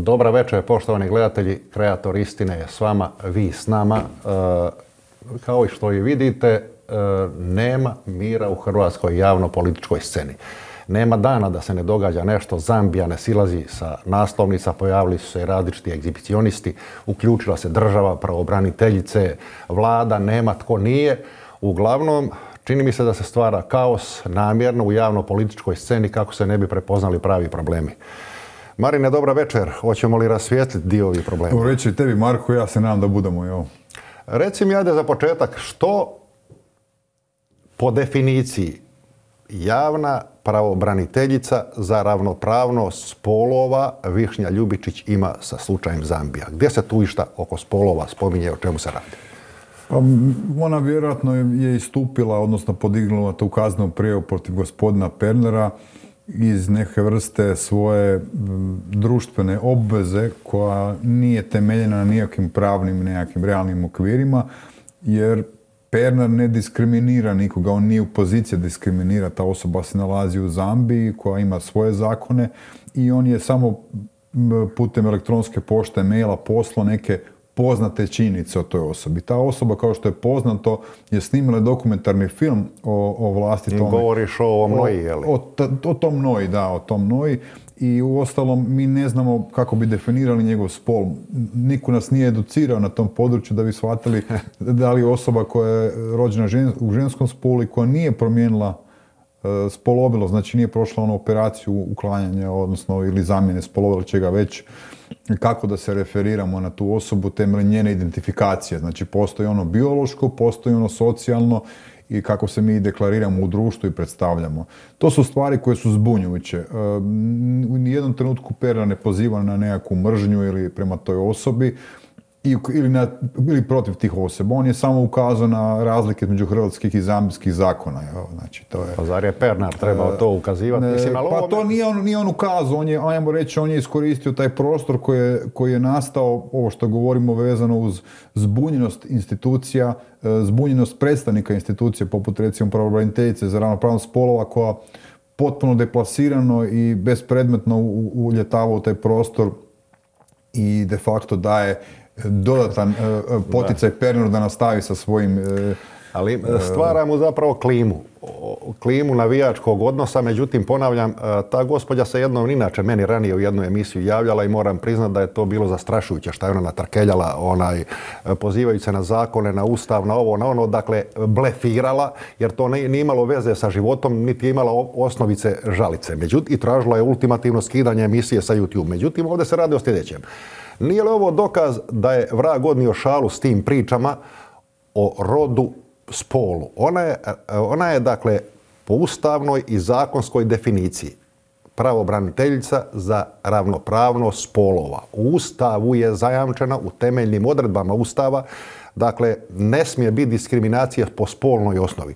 Dobra večer, poštovani gledatelji. Kreator istine je s vama, vi s nama. Kao i što i vidite, nema mira u hrvatskoj javno-političkoj sceni. Nema dana da se ne događa nešto. Zambija ne silazi sa naslovnica, pojavili su se i različiti egzibicionisti, uključila se država, pravobraniteljice, vlada, nema tko nije. Uglavnom, čini mi se da se stvara kaos namjerno u javno-političkoj sceni kako se ne bi prepoznali pravi problemi. Marine, dobra večer. Hoćemo li rasvijetliti dio ovih problema? Dobro reći tebi, Marko, ja se nadam da budemo i ovo. Reci mi, ajde za početak, što po definiciji javna pravobraniteljica za ravnopravnost spolova Višnja Ljubičić ima sa slučajem Zambija? Gdje se tu išta oko spolova spominje, o čemu se radi? Pa, ona vjerojatno je istupila, odnosno podignula tu kaznenu prijavu protiv gospodina Pernara iz neke vrste svoje društvene obveze koja nije temeljena na nijakim pravnim, nekakvim realnim okvirima, jer Pernar ne diskriminira nikoga, on nije u poziciji diskriminira, ta osoba se nalazi u Zambiji koja ima svoje zakone i on je samo putem elektronske pošte, maila poslao neke poznate činjenice o toj osobi. Ta osoba, kao što je poznato, je snimila dokumentarni film o vlasti tome. Govoriš o Noji, je li? O tom Noji, da, o tom Noji. I uostalom, mi ne znamo kako bi definirali njegov spol. Niko nas nije educirao na tom području da bi shvatili da li osoba koja je rođena u ženskom spolu i koja nije promijenila spolovilo, znači nije prošla onu operaciju uklanjanja, odnosno ili zamjene spolovila, čega već, kako da se referiramo na tu osobu temeljem njene identifikacije. Znači postoji ono biološko, postoji ono socijalno i kako se mi deklariramo u društvu i predstavljamo. To su stvari koje su zbunjujuće. U nijednom trenutku Pernar ne poziva na nekakvu mržnju ili prema toj osobi ili protiv tih osoba. On je samo ukazao na razlike između hrvatskih i zambijskih zakona. Znači, to je, pa zar je Pernar trebao to ukazivati? Pa to nije on ukazao. Ajmo reći, on je iskoristio taj prostor koji je nastao, ovo što govorimo vezano uz zbunjenost institucija, zbunjenost predstavnika institucija, poput recimo pravobraniteljice za ravnopravnost spolova, koja potpuno deplasirano i bespredmetno uljetava u taj prostor i de facto daje dodatan poticaj Pernaru da nastavi sa svojim... Ali stvara mu zapravo klimu navijačkog odnosa, međutim, ponavljam, ta gospođa se jednom inače meni ranije u jednu emisiju javljala i moram priznati da je to bilo zastrašujuće šta je ona natrkeljala, pozivajući se na zakone, na ustav, na ovo, na ono, dakle, blefirala, jer to nije imalo veze sa životom, niti je imala osnovice žalice. Međutim, i tražila je ultimativno skidanje emisije sa YouTube. Međutim, ovdje se radi o sljedećem. Nije li ovo dokaz da je vrag odnio šalu s tim pričama o rodu, spolu? Ona je, dakle, po ustavnoj i zakonskoj definiciji pravobraniteljica za ravnopravnost spolova. U Ustavu je zajamčena, u temeljnim odredbama Ustava, dakle, ne smije biti diskriminacija po spolnoj osnovi.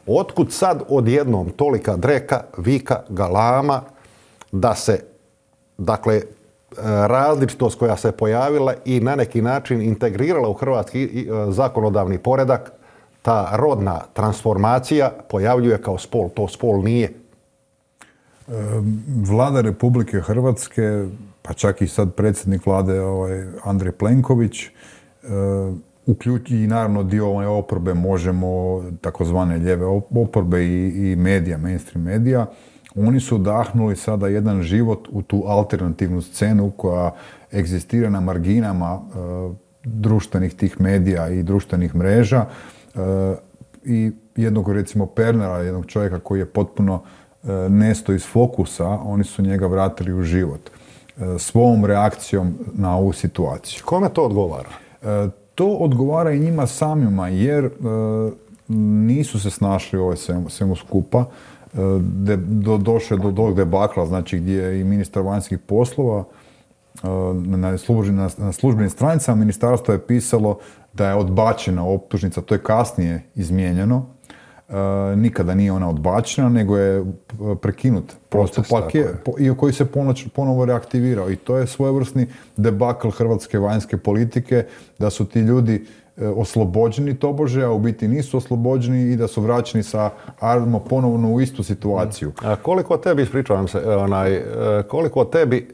Otkud sad odjednom tolika dreka, vika, galama da se, dakle, različitost koja se pojavila i na neki način integrirala u hrvatski zakonodavni poredak, ta rodna transformacija pojavljuje kao spol, to spol nije? Vlada Republike Hrvatske, pa čak i sad predsjednik vlade Andrej Plenković, uključi i naravno dio oporbe, Možemo, takozvane lijeve oporbe i medija, mainstream medija, oni su udahnuli sada jedan život u tu alternativnu scenu koja egzistira na marginama društvenih tih medija i društvenih mreža i jednog, recimo, Pernara, jednog čovjeka koji je potpuno nesto iz fokusa, oni su njega vratili u život svom reakcijom na ovu situaciju. Kome to odgovara? To odgovara i njima samima, jer nisu se snašli u ovoj svemu skupa. Došlo je do tog debakla, znači gdje je i ministar vanjskih poslova na službenim stranicama ministarstva je pisalo da je odbačena optužnica, to je kasnije izmijenjeno. Nikada nije ona odbačena, nego je prekinut postupak i koji se ponovo reaktivirao. I to je svojevrsni debakl hrvatske vanjske politike, da su ti ljudi oslobođeni tobože, a u biti nisu oslobođeni i da su vraćeni sa Ardmo ponovno u istu situaciju. A koliko tebi, ispričavam se, koliko tebi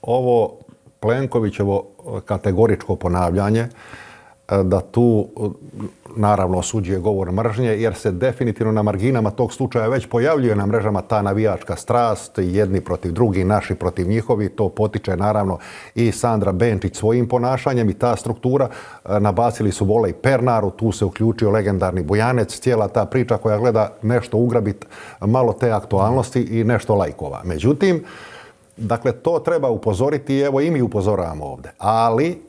ovo Plenkovićevo kategoričko ponavljanje, da tu naravno osuđuje govor mržnje, jer se definitivno na marginama tog slučaja već pojavljuje na mrežama ta navijačka strast, jedni protiv drugih, naši protiv njihovi. To potiče naravno i Sandra Benčić svojim ponašanjem i ta struktura. Nabacili su volej Pernaru, tu se uključio legendarni Bujanec, cijela ta priča koja gleda nešto ugrabiti malo te aktualnosti i nešto lajkova. Međutim, dakle, to treba upozoriti i evo i mi upozoravamo ovdje. Ali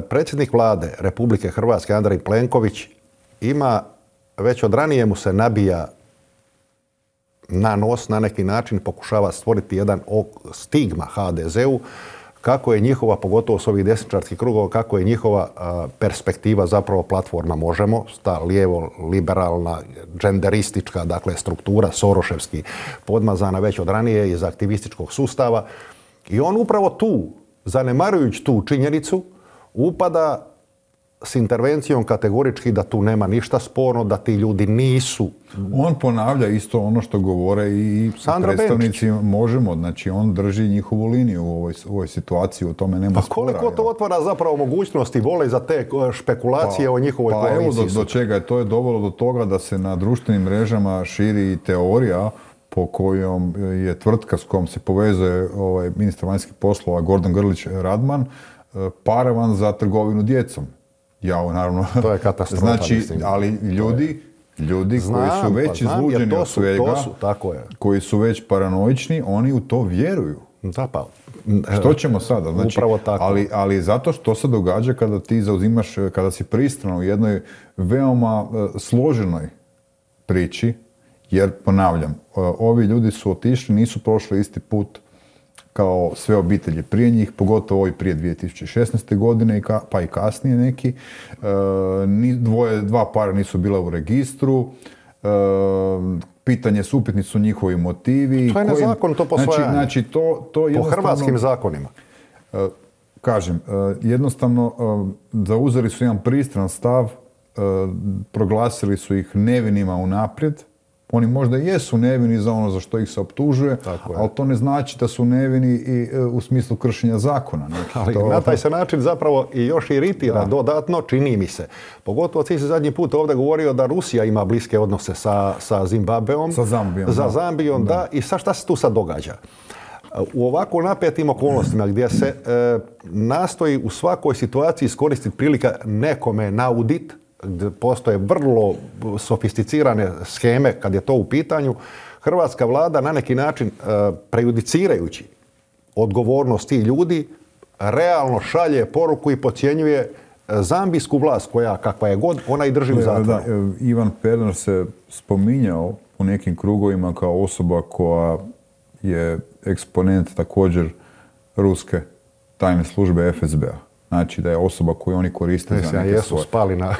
predsjednik vlade Republike Hrvatske Andrej Plenković ima, već od ranije mu se nabija na nos na neki način, pokušava stvoriti jedan stigma HDZ-u, kako je njihova, pogotovo s ovih desničarskih krugova, kako je njihova perspektiva zapravo platforma Možemo, ta lijevo-liberalna, dženderistička, dakle struktura, soroševski podmazana već od ranije iz aktivističkog sustava. I on upravo tu, zanemarujući tu činjenicu, upada s intervencijom kategorički da tu nema ništa sporno, da ti ljudi nisu. On ponavlja isto ono što govore i predstavnici Možemo. Znači, on drži njihovu liniju u ovoj situaciji, o tome nema spora. Pa koliko to otvara zapravo mogućnosti, vole za te špekulacije o njihovoj koaliciji? Evo do čega. To je dovelo do toga da se na društvenim mrežama širi teorija po kojom je tvrtka s kojom se povezuje ministar vanjskih poslova Gordan Grlić Radman paravan za trgovinu djecom. Naravno. To je katastrofa. Znači, ali ljudi koji su već izluđeni od svega, koji su već paranoični, oni u to vjeruju. Da, pa. Što ćemo sada? Znači, upravo tako. Ali zato što se događa kada ti zauzimaš, kada si pristran u jednoj veoma složenoj priči, jer ponavljam, ovi ljudi su otišli, nisu prošli isti put kao sve obitelji prije njih, pogotovo ovi prije 2016. godine, pa i kasnije neki. Dva para nisu bila u registru. Pitanje su, upitni su njihovi motivi. To je nezakonito posvajanje. Znači, to po hrvatskim zakonima. Kažem, jednostavno zauzeli su jedan pristran stav, proglasili su ih nevinima unaprijed. Oni možda jesu nevini za ono za što ih se optužuje, ali to ne znači da su nevini i u smislu kršenja zakona. Ali na taj se način zapravo i još iritira dodatno, čini mi se. Pogotovo ti si zadnji put ovdje govorio da Rusija ima bliske odnose sa Zimbabveom. Sa Zambijom, da. I šta se tu sad događa? U ovako napetim okolnostima gdje se nastoji u svakoj situaciji iskoristiti prilika nekome naudit, postoje vrlo sofisticirane sheme kad je to u pitanju, hrvatska vlada na neki način prejudicirajući odgovornost tih ljudi realno šalje poruku i podcjenjuje zambijsku vlast koja kakva je god, ona i drži u zatvoru. Ivan Pernar se spominjao u nekim krugovima kao osoba koja je eksponent također ruske tajne službe FSB-a. Znači da je osoba koju oni koriste za neke svoje. Spali na...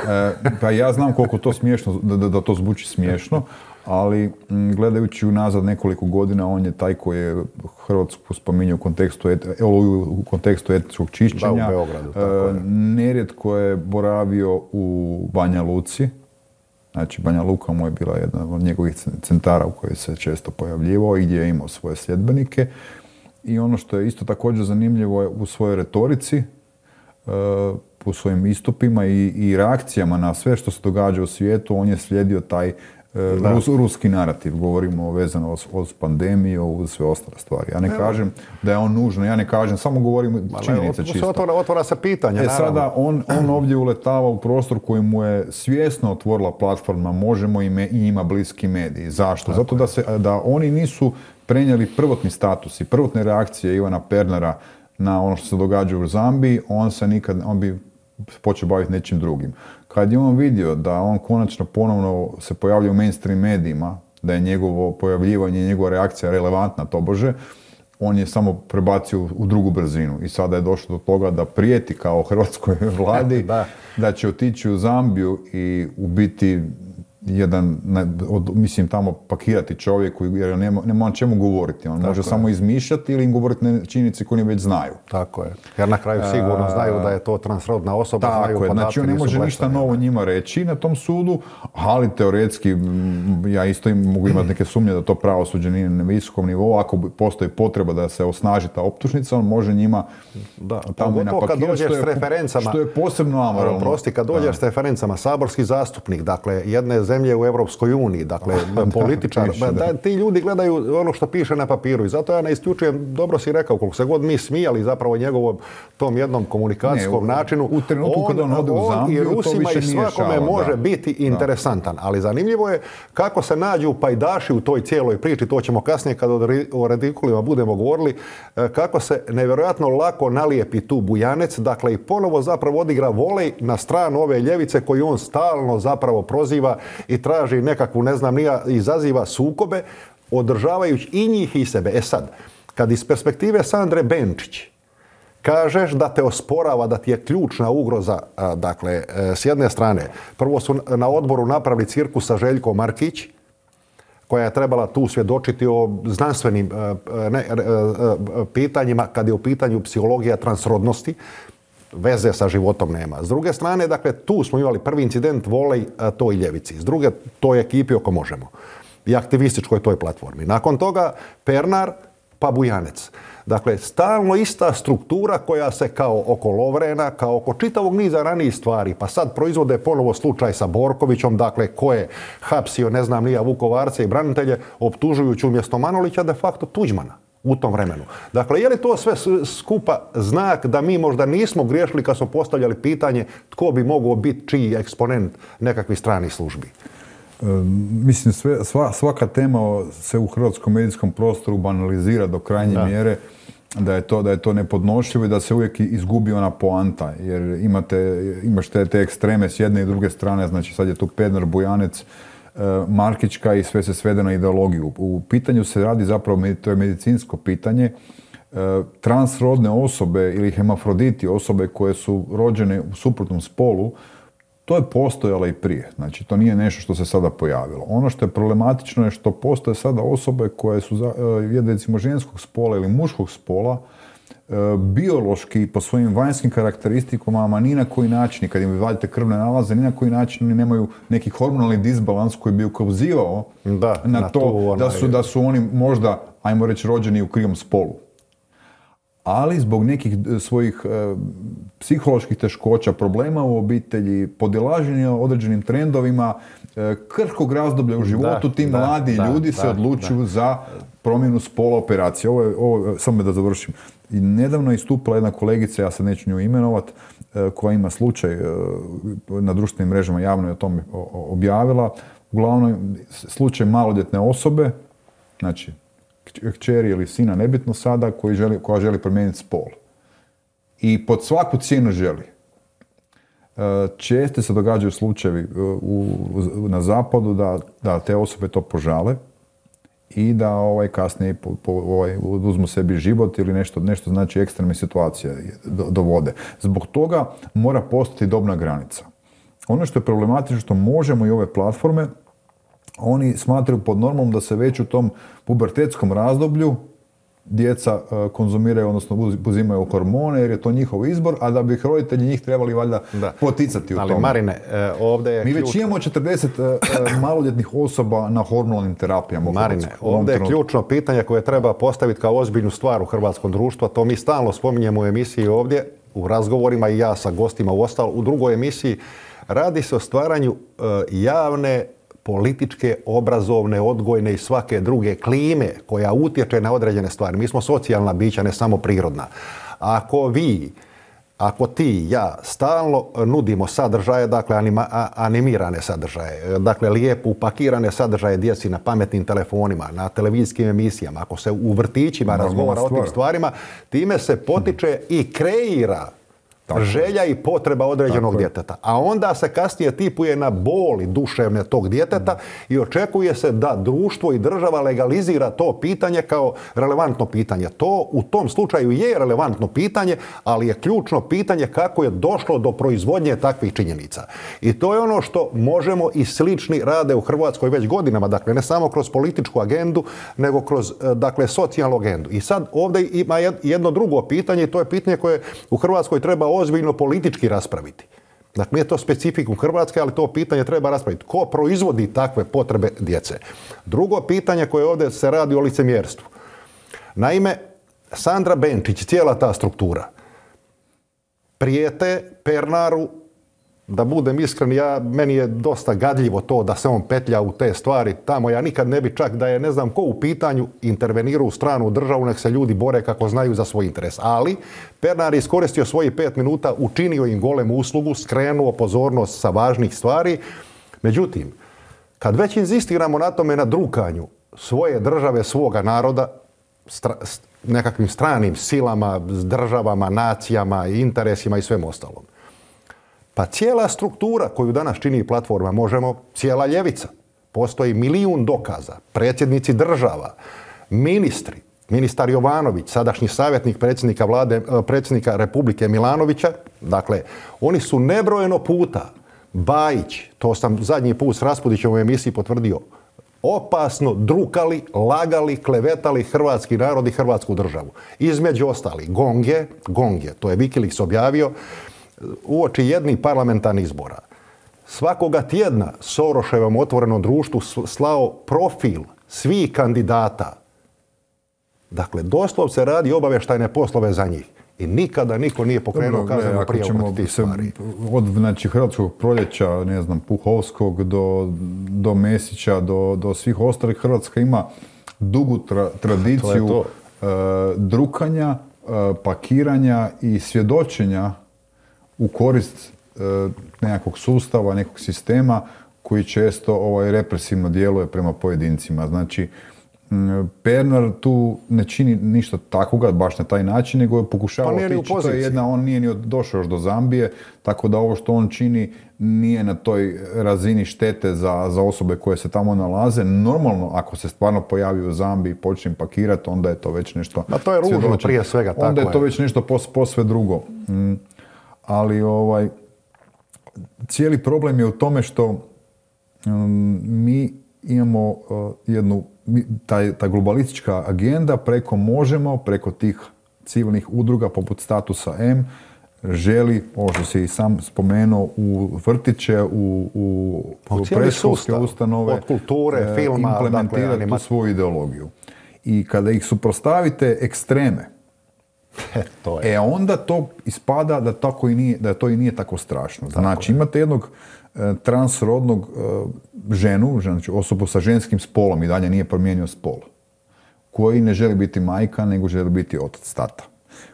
Pa ja znam koliko to smiješno, da to zvuči smiješno, ali gledajući unazad nekoliko godina, on je taj koji je Hrvatsku spominjao u kontekstu etničkog čišćenja. Da, u Beogradu. Nerijetko je boravio u Banja Luci. Znači, Banja Luka mu je bila jedna od njegovih centara u kojoj se često pojavljivao i gdje je imao svoje sljedbenike. I ono što je isto također zanimljivo je u svojoj retorici, po svojim istupima i reakcijama na sve što se događa u svijetu, on je slijedio taj ruski narativ. Govorimo vezano uz pandemiju, uz sve ostale stvari. Ja ne kažem da je on nužno, ja ne kažem, samo govorim činjenice čisto. Otvara se pitanje, naravno. Sada on ovdje uletava u prostor koji mu je svjesno otvorila platforma Možemo i njima bliski mediji. Zašto? Zato da oni nisu prenijeli prvotni status i prvotne reakcije Ivana Pernara na ono što se događa u Zambiji, on bi počeo baviti nečim drugim. Kad je on vidio da on konačno ponovno se pojavlja u mainstream medijima, da je njegovo pojavljivanje i njegova reakcija relevantna tobože, on je samo prebacio u drugu brzinu. I sada je došlo do toga da prijeti kao hrvatskoj vladi da će otići u Zambiju i u biti mislim, tamo pakirati čovjeku jer nema on čemu govoriti. On može samo izmišljati ili im govoriti činjenice koje već znaju. Tako je. Jer na kraju sigurno znaju da je to transrodna osoba. Tako je. Znači on ne može ništa novo njima reći na tom sudu, ali teoretski ja isto mogu imati neke sumnje da to pravosuđe nije na visokom nivou. Ako postoji potreba da se osnaži ta optužnica, on može njima tamo napakirati, što je posebno amoralno. Prosti, kad dođeš s referencama, saborski zastupnik, dakle, jedne zemlje u Europskoj uniji, dakle, političar, ti ljudi gledaju ono što piše na papiru i zato ja ne isključujem, dobro si rekao, koliko se god mi smijali zapravo njegovom tom jednom komunikacijskom načinu, u trenutku kada on ode u Zambiju, i Rusima i svakome može biti interesantan, ali zanimljivo je kako se nađu pajdaši u toj cijeloj priči, to ćemo kasnije kad o radikulima budemo govorili, kako se nevjerojatno lako nalijepi tu Bujanec, dakle i ponovo zapravo odigra volej na stranu ove ljevice koju on stalno zapravo proziva i traži nekakvu, ne znam, izaziva sukobe, održavajući i njih i sebe. E sad, kad iz perspektive Sandre Benčić kažeš da te osporava, da ti je ključna ugroza, dakle, s jedne strane, prvo su na odboru napravili cirkus sa Željkom Markić, koja je trebala tu svjedočiti o znanstvenim pitanjima, kad je u pitanju psihologija transrodnosti, veze sa životom nema. S druge strane, dakle, tu smo imali prvi incident volej toj ljevici. S druge, toj ekipi oko Možemo i aktivističkoj toj platformi. Nakon toga Pernar pa Bujanec. Dakle, stalno ista struktura koja se kao oko Lovrena, kao oko čitavog niza ranijih stvari, pa sad proizvode ponovo slučaj sa Borkovićom, dakle, ko je hapsio, ne znam, nija Vukovarce i branitelje, optužujući umjesto Manolića de facto Tuđmana u tom vremenu. Dakle, je li to sve skupa znak da mi možda nismo griješili kad smo postavljali pitanje tko bi mogao biti čiji eksponent nekakvih stranih službi? Mislim, svaka tema se u hrvatskom medijskom prostoru banalizira do krajnje mjere, da je to nepodnošljivo i da se uvijek izgubi ona poanta, jer imaš te ekstreme s jedne i druge strane, znači sad je tu Pernar, Bujanec, Markićka i sve se svede na ideologiju. U pitanju se radi zapravo, to je medicinsko pitanje, transrodne osobe ili hemafroditi, osobe koje su rođene u suprotnom spolu, to je postojalo i prije. Znači, to nije nešto što se sada pojavilo. Ono što je problematično je što postoje sada osobe koje su, recimo, ženskog spola ili muškog spola, biološki po svojim vanjskim karakteristikama, ni na koji način, kad im vadite krvne nalaze, ni na koji način nemaju neki hormonalni disbalans koji bi ukazivao na to da su oni možda, ajmo reći, rođeni u krivom spolu. Ali zbog nekih svojih psiholoških teškoća, problema u obitelji, podilaženja određenim trendovima, krhkog razdoblja u životu, ti mladi ljudi se odlučuju za promjenu spola operacije. Ovo samo da završim. I nedavno je istupila jedna kolegica, ja sad neću nju imenovat, koja ima slučaj na društvenim mrežama, javno je o tome objavila. Uglavnom, slučaj maloljetne osobe, znači kćeri ili sina, nebitno sada, koja želi promijeniti spol. I pod svaku cijenu želi. Često se događaju slučajevi na zapadu da te osobe to požale i da kasnije oduzmu sebi život ili nešto znači ekstremne situacije dovode. Zbog toga mora postati dobna granica. Ono što je problematično, što Možemo i ove platforme, oni smatraju pod normom da se već u tom pubertetskom razdoblju djeca konzumiraju, odnosno uzimaju hormone jer je to njihov izbor, a da bi ih roditelji njih trebali valjda poticati u tome. Ali Marine, ovdje je mi već imamo 40 maloljetnih osoba na hormonalnim terapijama. Marine, ovdje je ključno pitanje koje treba postaviti kao ozbiljnu stvar u hrvatskom društvu, to mi stalno spominjemo u emisiji ovdje, u razgovorima i ja sa gostima u drugoj emisiji. Radi se o stvaranju javne političke, obrazovne, odgojne i svake druge klime koja utječe na određene stvari. Mi smo socijalna bića, ne samo prirodna. Ako ti, ja, stalno nudimo sadržaje, dakle animirane sadržaje, dakle lijepo upakirane sadržaje djeci na pametnim telefonima, na televizijskim emisijama, ako se u vrtićima razgovara o tim stvarima, time se potiče i kreira želja i potreba određenog djeteta. A onda se kasnije tipuje na boli duševne tog djeteta i očekuje se da društvo i država legalizira to pitanje kao relevantno pitanje. To u tom slučaju je relevantno pitanje, ali je ključno pitanje kako je došlo do proizvodnje takvih činjenica. I to je ono što možemo i slični rade u Hrvatskoj već godinama. Dakle, ne samo kroz političku agendu, nego kroz socijalnu agendu. I sad ovdje ima jedno drugo pitanje i to je pitanje koje u Hrvatskoj treba ozbiljno politički raspraviti. Dakle, nije to specifikum Hrvatske, ali to pitanje treba raspraviti. Ko proizvodi takve potrebe djece? Drugo pitanje koje ovdje se radi o licemjerstvu. Naime, Sandra Benčić, cijela ta struktura, prijete Pernaru, da budem iskren, meni je dosta gadljivo to da se on petlja u te stvari tamo. Ja nikad ne bi čak da je ne znam ko u pitanju intervenirao u stranu državu, nek se ljudi bore kako znaju za svoj interes. Ali Pernar je iskoristio svojih 5 minuta, učinio im golemu uslugu, skrenuo pozornost sa važnih stvari. Međutim, kad već inzistiramo na tome, na drukanju svoje države, svoga naroda, nekakvim stranim silama, državama, nacijama, interesima i svem ostalom, pa cijela struktura koju danas čini platforma Možemo, cijela ljevica, postoji milijun dokaza, predsjednici država, ministri, ministar Jovanović, sadašnji savjetnik predsjednika vlade, predsjednika Republike Milanovića, dakle, oni su nebrojeno puta, Bajić, to sam zadnji put s Raspudićem u emisiji potvrdio, opasno drukali, lagali, klevetali hrvatski narod i hrvatsku državu. Između ostali, GONG je, to je Wikileaks objavio, uoči jednih parlamentarnih izbora. Svakoga tjedna Soroševom Otvorenom društvu slao profil svih kandidata. Dakle, doslovce radi obavještajne poslove za njih. I nikada niko nije pokrenuo kaznenu prijavu protiv tih stvari. Od Hrvatskog proljeća, ne znam, Puhovskog do Mesića, do svih ostalih, Hrvatska ima dugu tradiciju drukanja, pakiranja i svjedočenja u korist nekakvog sustava, nekog sistema koji često represivno djeluje prema pojedincima. Znači, Pernar tu ne čini ništa takvoga, baš na taj način, nego je pokušavao otići. To je on nije ni došao još do Zambije, tako da ovo što on čini nije na toj razini štete za osobe koje se tamo nalaze. Normalno, ako se stvarno pojavi u Zambiji i počne pakirati, onda je to već nešto... Ma to je ružno prije svega, tako je. Onda je to već nešto posve drugo. Ali cijeli problem je u tome što mi imamo ta globalistička agenda preko Možemo, preko tih civilnih udruga poput Statusa M, želi, ovo što si i sam spomenuo, u vrtiće, u predškolske ustanove, od kulture, filma, implementirati tu svoju ideologiju. I kada ih suprotstavite ekstreme, onda to ispada da to i nije tako strašno. Znači, imate jednog transrodnog ženu, znači osobu sa ženskim spolom, i dalje nije promijenio spol, koji ne želi biti majka, nego želi biti otac, tata,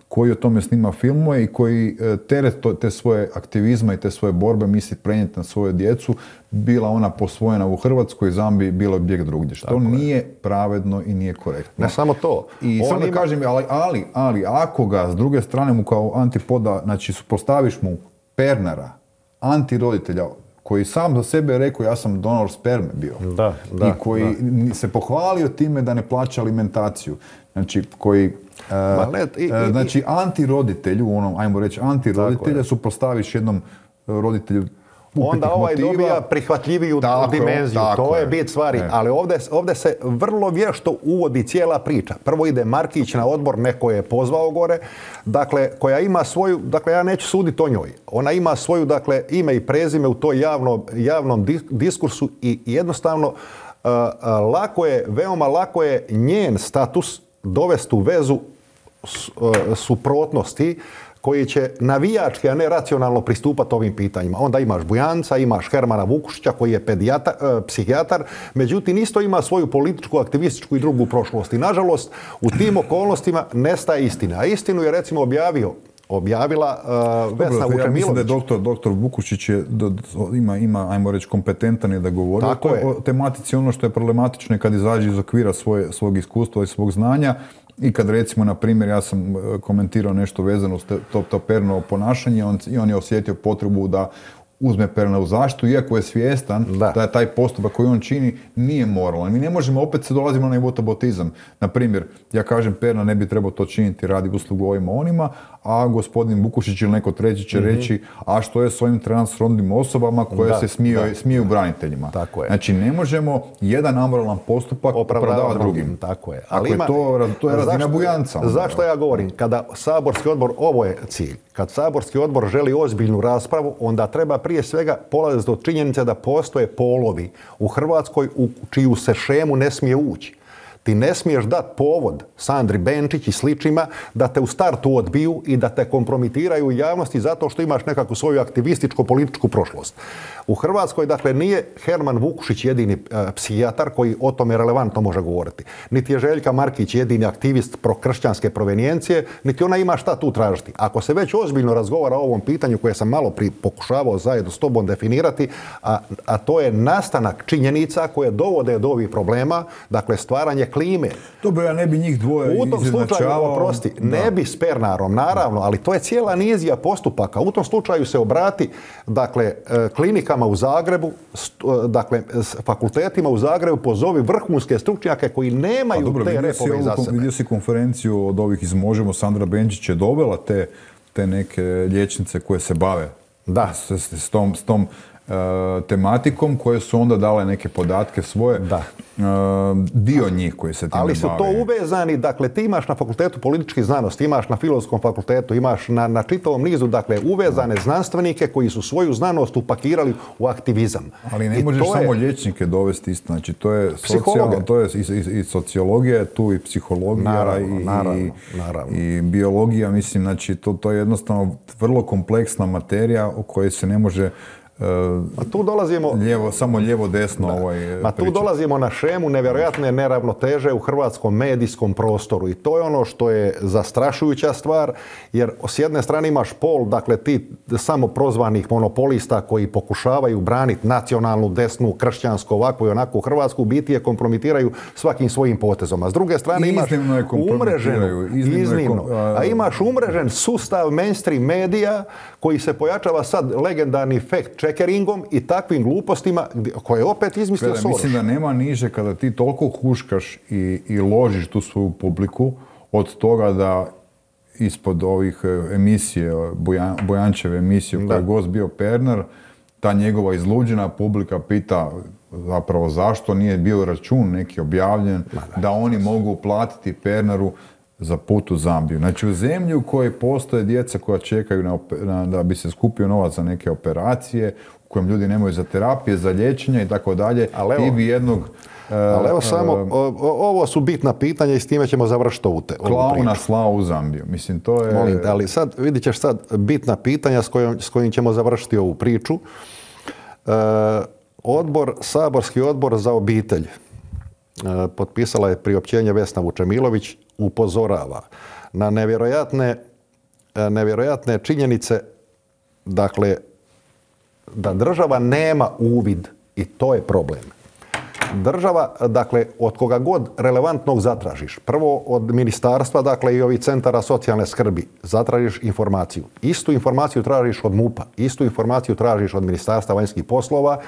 koji o tome snima filmove i koji teret te svoje aktivizma i te svoje borbe misli prenijeti na svoju djecu, bila ona posvojena u Hrvatskoj, Zambiji, bilo bijeg drugdje, što nije pravedno i nije korektno. Ne samo to. I sad da kažem, ali ako ga s druge strane mu kao antipoda, znači postaviš mu Pernara, antiroditelja, koji sam za sebe rekao ja sam donor sperme bio. I koji se pohvalio time da ne plaća alimentaciju. Znači, koji... znači, antiroditelju, ajmo reći antiroditelja, suprotstaviš jednom roditelju onda dobija prihvatljiviju dimenziju. To je bit stvari. Ali ovdje se vrlo vješto uvodi cijela priča. Prvo ide Markić na odbor, neko je pozvao gore, dakle, koja ima svoju, dakle, ja neću suditi o njoj. Ona ima svoju, dakle, ime i prezime u toj javnom diskursu i jednostavno veoma lako je njen status dovesti u vezu suprotnosti koji će navijački, a ne racionalno pristupati ovim pitanjima. Onda imaš Bujanca, imaš Hermana Vukušića koji je psihijatar, međutim isto ima svoju političku, aktivističku i drugu prošlost. I nažalost u tim okolnostima nestaje istina. A istinu je recimo objavila Vesna Vučemilović. Ja mislim da je doktor Vukušić ima, ajmo reći, kompetentan je da govori o tematici. Ono što je problematično je kad izađe iz okvira svog iskustva i svog znanja, I kad recimo, na primjer, ja sam komentirao nešto vezano uz to Pernovo ponašanje i on je osjetio potrebu da uzme Pernara u zaštitu, iako je svjestan da je taj postupak koji on čini nije moralan. Mi ne možemo, opet se dolazimo na botizam. Na primjer, ja kažem Pernar ne bi trebao to činiti, radi uslugu ovima onima, a gospodin Vukušić ili neko treći će reći, a što je s ovim transrodnim osobama koje se smiju braniteljima. Tako je. Znači, ne možemo jedan amoralan postupak opravdavati drugim. Tako je. Ali to je razina bujanca. Zašto ja govorim? Kada saborski odbor, ovo je cilj, kad saborski odbor želi ozbiljnu raspravu, onda treba prije svega polaziti od činjenice da postoje polovi u Hrvatskoj u čiju se šemu ne smije ući. Ti ne smiješ dati povod Sandri Benčić i sličnima da te u startu odbiju i da te kompromitiraju u javnosti zato što imaš nekakvu svoju aktivističko-političku prošlost. U Hrvatskoj, dakle, nije Herman Vukušić jedini psihijatar koji o tome relevantno može govoriti. Niti je Željka Markić jedini aktivist prokršćanske provenijencije, niti ona ima šta tu tražiti. Ako se već ozbiljno razgovara o ovom pitanju koje sam malo prije pokušavao zajedno s tobom definirati, a to je nastanak činjenica koje dovode do ovih problema, dakle stvaranje klime. Dobro, ja ne bi njih dvoje izjednačavao. U tom slučaju, oprosti, ne bi s Pernarom, naravno, ali to je cijela nizija postupaka. U tom slučaju se obrati, dakle, klinikama u Zagrebu, dakle, fakultetima u Zagrebu, pozovi vrhunske stručnjake koji nemaju te repove iza sebe. Vidio si konferenciju od ovih iz Možemo, Sandra Benčić je dovela te neke liječnice koje se bave s tom tematikom, koje su onda dale neke podatke svoje. Dio njih koji se time bave. Ali su to uvezani, dakle, ti imaš na fakultetu političkih znanosti, imaš na filozofskom fakultetu, imaš na čitavom nizu, dakle, uvezane znanstvenike koji su svoju znanost upakirali u aktivizam. Ali ne možeš samo liječnike dovesti isto, znači to je socijalno, to je i sociologija, tu i psihologija i biologija, mislim, znači to je jednostavno vrlo kompleksna materija o kojoj se ne može tu dolazimo, samo lijevo-desno tu dolazimo na šemu nevjerojatne neravnoteže u hrvatskom medijskom prostoru i to je ono što je zastrašujuća stvar, jer s jedne strane imaš pol, dakle ti samoprozvanih monopolista koji pokušavaju braniti nacionalnu, desnu, kršćansku, ovakvu i onakvu Hrvatsku, u biti je kompromitiraju svakim svojim potezom. A s druge strane imaš imaš umrežen sustav mainstream medija koji se pojačava sad legendarni fact-checkeringom i takvim glupostima koje opet izmislio Soros. Mislim da nema niže kada ti toliko huškaš i ložiš tu svoju publiku od toga da ispod ovih emisije, Bojančeve emisije u kojoj je gost bio Pernar, ta njegova izluđena publika pita zapravo zašto nije bio račun neki objavljen da oni mogu platiti Pernaru za put u Zambiju. Znači u zemlji u kojoj postoje djeca koja čekaju da bi se skupio novac za neke operacije, u kojem ljudi nemaju za terapije, za liječenje i tako dalje, ti bi jednog... Ali evo samo, ovo su bitna pitanja i s time ćemo završiti ovu priču. Klauna slao u Zambiju. Mislim, to je... Molim te, ali sad vidit ćeš sad bitna pitanja s kojim ćemo završiti ovu priču. Saborski odbor za obitelj potpisala je priopćenje Vesna Vučemilović, upozorava na nevjerojatne činjenice, dakle, da država nema uvid i to je problem. Država, dakle, od koga god relevantnog zatražiš, prvo od ministarstva, dakle, i ovih centara socijalne skrbi, zatražiš informaciju. Istu informaciju tražiš od MUP-a, istu informaciju tražiš od Ministarstva vanjskih poslova,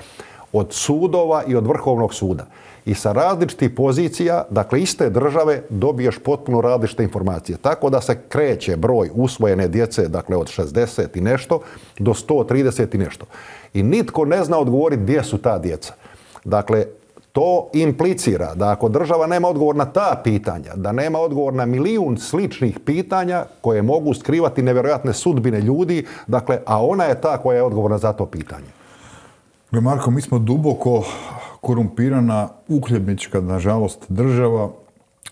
od sudova i od Vrhovnog suda. I sa različitih pozicija, dakle iste države, dobiješ potpuno različite informacije. Tako da se kreće broj usvojene djece, dakle od 60 i nešto do 130 i nešto. I nitko ne zna odgovoriti gdje su ta djeca. Dakle, to implicira da ako država nema odgovor na ta pitanja, da nema odgovor na milijun sličnih pitanja koje mogu skrivati nevjerojatne sudbine ljudi, dakle, a ona je ta koja je odgovorna za to pitanje. Marko, mi smo duboko korumpirana, uhljebnička, nažalost, država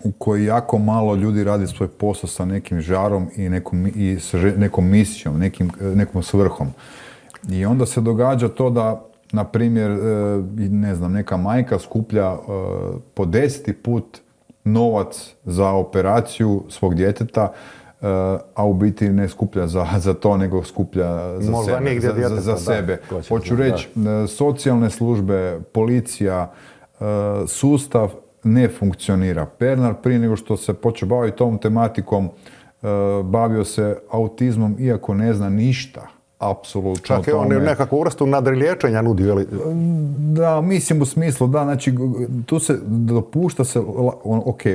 u kojoj jako malo ljudi radi svoj posao sa nekim žarom i sa nekom misijom, nekom svrhom. I onda se događa to da, na primjer, ne znam, neka majka skuplja po 10. put novac za operaciju svog djeteta, a u biti ne skuplja za to, nego skuplja za sebe. Hoću reći, socijalne službe, policija, sustav ne funkcionira. Pernar prije nego što se počeo baviti tom tematikom, bavio se autizmom iako ne zna ništa. Apsolutno. Čak je on nekakvu vrstu nadriliječenja nudio, ili? Da, mislim u smislu, da, znači, tu se dopušta se,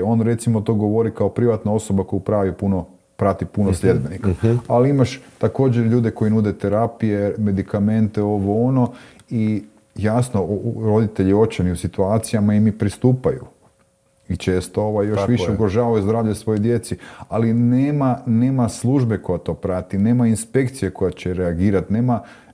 on recimo to govori kao privatna osoba koja prati puno sljedbenika. Ali imaš također ljude koji nude terapije, medikamente, ovo ono, i jasno, roditelji očajni u situacijama i mi pristupaju. I često još tako više ugrožavaju zdravlje svoje djeci. Ali nema službe koja to prati, nema inspekcije koja će reagirati,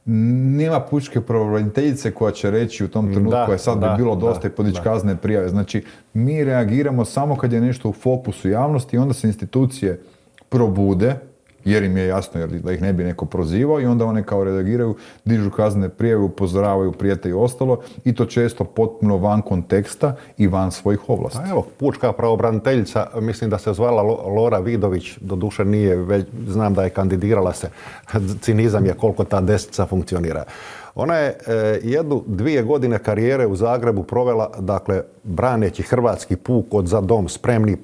nema pučke pravobraniteljice koja će reći u tom trenutku koje sad bi bilo dosta i podići kaznene prijave. Znači, mi reagiramo samo kad je nešto u fokusu javnosti i onda se institucije probude, jer im je jasno jer da ih ne bi neko prozivao, i onda one kao reagiraju, dižu kaznene prijave, upozoravaju, prijete i ostalo, i to često potpuno van konteksta i van svojih ovlasti. A evo, pučka pravobraniteljica, mislim da se zvala Lora Vidović, doduše nije, već znam da je kandidirala se, cinizam je koliko ta desnica funkcionira. Ona je 1-2 godine karijere u Zagrebu provela, dakle, braneći hrvatski puk od Za dom spremni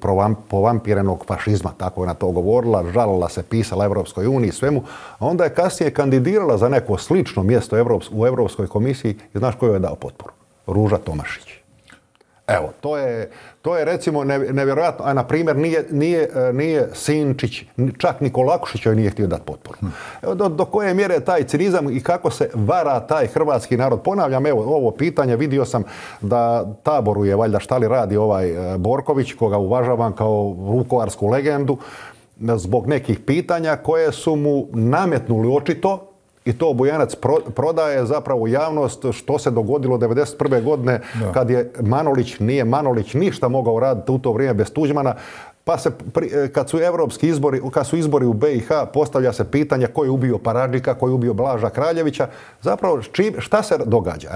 povampirenog fašizma, tako je na to govorila, žalila se, pisala Evropskoj uniji, svemu, a onda je kasnije kandidirala za neko slično mjesto u Europskoj komisiji i znaš koju je dao potporu? Ruža Tomašić. Evo, to je recimo nevjerojatno, a na primjer nije Sinčić, čak ni Kolakušić joj nije htio dati potporu. Evo, do koje mjere je taj cinizam i kako se vara taj hrvatski narod. Ponavljam, evo, ovo pitanje, vidio sam da taboru je valjda šta li radi ovaj Borković, koga uvažavam kao vukovarsku legendu, zbog nekih pitanja koje su mu nametnuli očito. I to Bujanac prodaje zapravo u javnost što se dogodilo 1991. godine kad je nije Manolić ništa mogao raditi u to vrijeme bez Tuđmana. Pa se, kad su izbori u BiH, postavlja se pitanje ko je ubio Paradžika, ko je ubio Blaža Kraljevića. Zapravo, šta se događa?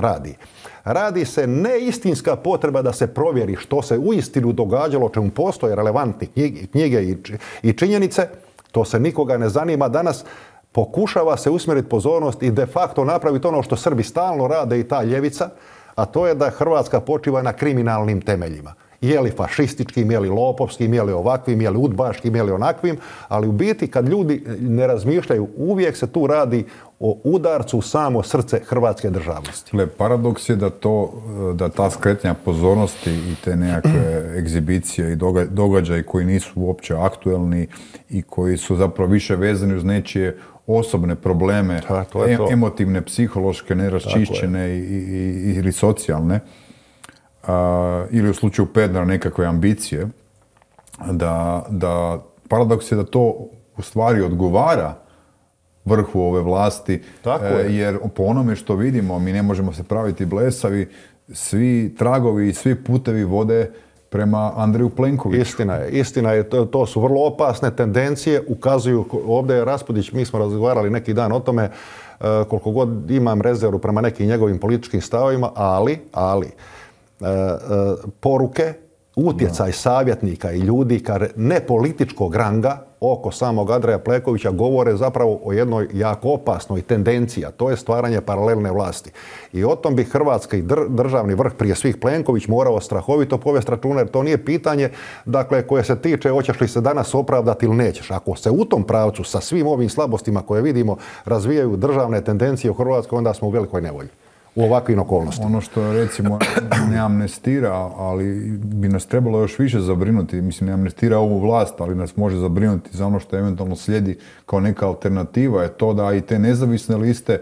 Radi se neistinska potreba da se provjeri što se uistinu događalo, o čemu postoje relevantne knjige i činjenice. To se nikoga ne zanima danas. Pokušava se usmjeriti pozornost i de facto napraviti ono što Srbi stalno rade i ta ljevica, a to je da Hrvatska počiva na kriminalnim temeljima. Je li fašističkim, je li lopovskim, je li ovakvim, je li udbaškim, je li onakvim, ali u biti kad ljudi ne razmišljaju, uvijek se tu radi o udarcu u samo srce hrvatske državnosti. Paradoks je da ta skretanja pozornosti i te nekakve egzibicije i događaji koji nisu uopće aktuelni i koji su zapravo više vezani uz nečije osobne probleme, emotivne, psihološke, neraščišćene ili socijalne, ili u slučaju Pernara nekakve ambicije, da paradoks je da to u stvari odgovara vrhu ove vlasti, jer po onome što vidimo, mi ne možemo se praviti blesavi, svi tragovi i svi putevi vode prema Andreju Plenkoviću. Istina je, to su vrlo opasne tendencije, ukazuju, ovdje je Raspudić, mi smo razgovarali neki dan o tome, koliko god imam rezervu prema nekim njegovim političkim stavovima, ali poruke, utjecaj savjetnika i ljudi ne političkog ranga oko samog Andreja Plenkovića govore zapravo o jednoj jako opasnoj tendenciji, a to je stvaranje paralelne vlasti. I o tom bi hrvatski državni vrh, prije svih Plenković, morao strahovito povesti računa, jer to nije pitanje koje se tiče hoćeš li se danas opravdati ili nećeš. Ako se u tom pravcu sa svim ovim slabostima koje vidimo razvijaju državne tendencije u Hrvatskoj, onda smo u velikoj nevolji u ovakvim okolnostima. Ono što recimo ne amnestira, ali bi nas trebalo još više zabrinuti, mislim ne amnestira ovu vlast, ali nas može zabrinuti za ono što eventualno slijedi kao neka alternativa, je to da i te nezavisne liste,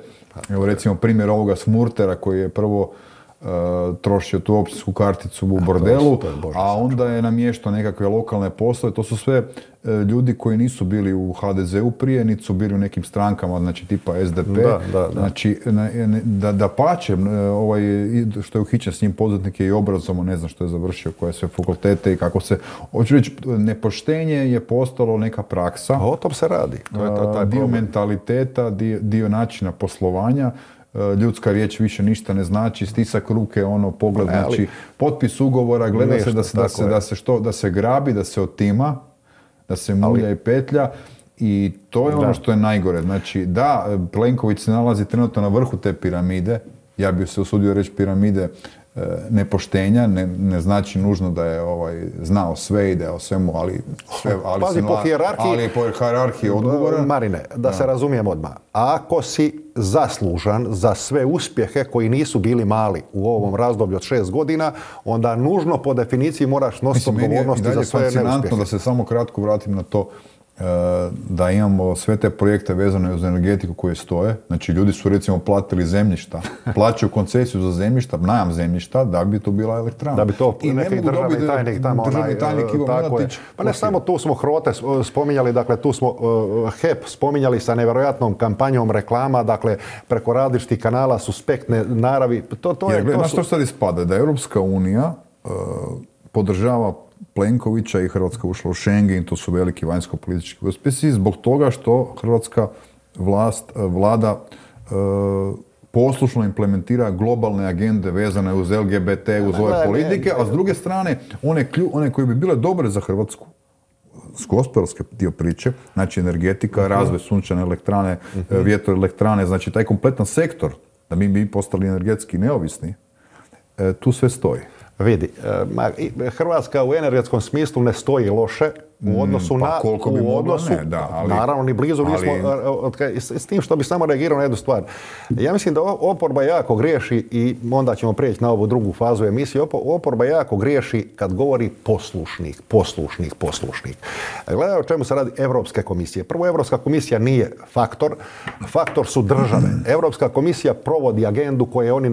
evo recimo primjer ovoga Smurtera koji je prvo trošio tu opcijsku karticu u bordelu, a onda je namještao nekakve lokalne poslove. To su sve ljudi koji nisu bili u HDZ-u prije, niti su bili u nekim strankama, znači tipa SDP. Znači, da pače, što je uhićen s njim poduzetnik je i obrazovan, ne znam što je završio, koje sve fakultete i kako se... Hoću reći, nepoštenje je postalo neka praksa. A o tom se radi. Dio mentaliteta, dio načina poslovanja. Ljudska riječ više ništa ne znači, stisak ruke, pogled, znači potpis ugovora, gleda se da se grabi, da se otima, da se mulja i petlja, i to je ono što je najgore. Znači da, Plenković se nalazi trenutno na vrhu te piramide, ja bih se usudio reći piramide nepoštenja, ne znači nužno da je znao sve i da je o svemu, ali po hijerarhiji odgovoran. Marine, da se razumijemo odmah. Ako si zaslužan za sve uspjehe koji nisu bili mali u ovom razdoblju od 6 godina, onda nužno po definiciji moraš nositi odgovornosti za sve neuspjehe. Fascinantno da se samo kratko vratim na to da imamo sve te projekte vezane uz energetiku koje stoje. Znači, ljudi su recimo platili zemljišta, plaćaju koncesiju za zemljišta, najam zemljišta, da bi to bila elektrana. Da bi to neki državni tajnik tamo tako je. Pa ne samo tu smo Hrote spominjali, dakle tu smo HEP spominjali sa nevjerojatnom kampanjom reklama, dakle preko različitih kanala suspektne naravi. Na što sad ispada? Da Europska unija podržava Plenkovića i Hrvatska ušla u Schengen, to su veliki vanjsko-politički uspjesi, zbog toga što hrvatska vlada poslušno implementira globalne agende vezane uz LGBT, uz ove politike, a s druge strane, one koje bi bile dobre za Hrvatsku, s gospodarske dio priče, znači energetika, razvoj sunčane elektrane, vjetroelektrane, znači taj kompletan sektor, da mi postali energetski neovisni, tu sve stoji. Vidi, Hrvatska u energetskom smislu ne stoji loše u odnosu na... Koliko bi mogla, ne, da, ali... Naravno, ni blizu nismo... S tim što bi samo reagirao na jednu stvar. Ja mislim da oporba jako griješi i onda ćemo prijeći na ovu drugu fazu emisije. Oporba jako griješi kad govori poslušnik. Gledaj o čemu se radi Europske komisije. Prvo, Europska komisija nije faktor. Faktor su države. Europska komisija provodi agendu koje oni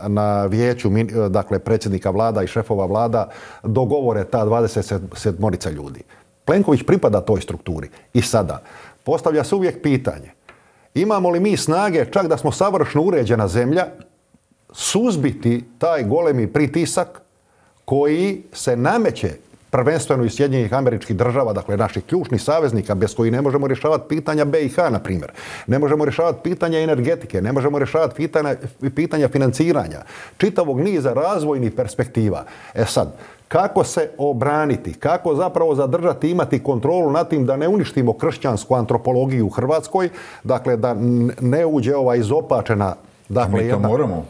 na vijeću, dakle, predsjednika vlada i šefova vlada dogovore ta 27 ljudi. Plenković pripada toj strukturi. I sada, postavlja se uvijek pitanje, imamo li mi snage, čak da smo savršeno uređena zemlja, suzbiti taj golemi pritisak koji se nameće prvenstveno iz Sjedinjenih Američkih Država, dakle naših ključnih saveznika bez kojih ne možemo rješavati pitanja BiH, na primjer. Ne možemo rješavati pitanja energetike, ne možemo rješavati pitanja financiranja, čitavog niza razvojnih perspektiva. Sad, kako se obraniti, kako zapravo zadržati, imati kontrolu nad tim da ne uništimo kršćansku antropologiju u Hrvatskoj, dakle da ne uđe ova izopačena... Dakle, mi to moramo.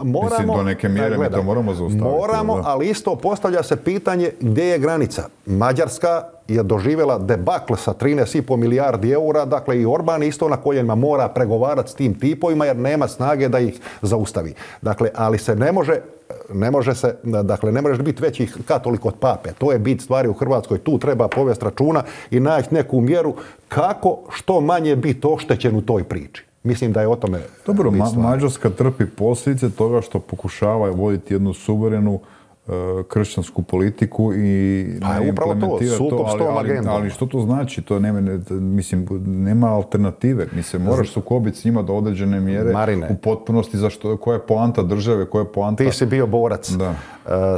Mislim, do neke mjere mi to moramo zaustaviti. Moramo, ali isto postavlja se pitanje gdje je granica. Mađarska je doživjela debakl sa 13,5 milijardi eura, dakle i Orban isto na koljenima mora pregovarati s tim tipovima jer nema snage da ih zaustavi. Dakle, ali se ne možeš biti veći katolik od pape. To je bit stvari u Hrvatskoj. Tu treba povesti računa i naći neku mjeru kako što manje biti oštećen u toj priči. Mislim da je o tome... Dobro, Mađarska trpi posljedice toga što pokušava voditi jednu suverenu kršćansku politiku i implementira to, ali što to znači? To nema alternative. Moraš sukobiti s njima do određene mjere. Marine, u potpunosti koja je poanta države, koja je poanta... Ti si bio borac.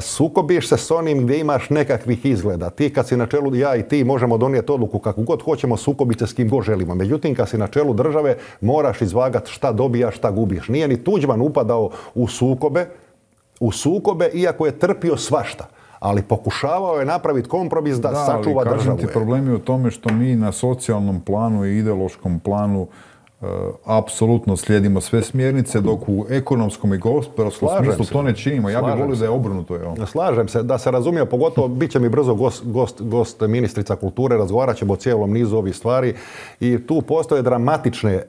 Sukobiš se s onim gdje imaš nekakvih izgleda. Ti kad si na čelu, ja i ti možemo donijeti odluku kako god hoćemo, sukobiti se s kim god želimo. Međutim, kad si na čelu države, moraš izvagati šta dobijaš, šta gubiš. Nije ni Tuđman upadao u sukobe, iako je trpio svašta. Ali pokušavao je napraviti kompromis da sačuva državu. Kažem ti, problem je u tome što mi na socijalnom planu i ideološkom planu apsolutno slijedimo sve smjernice, dok u ekonomskom i gospodarskom smislu to ne činimo. Ja bih volio da je obrnuto. Slažem se, da se razumije, pogotovo bit će mi brzo gost ministrica kulture, razgovarat ćemo o cijelom nizu ovih stvari i tu postoje dramatične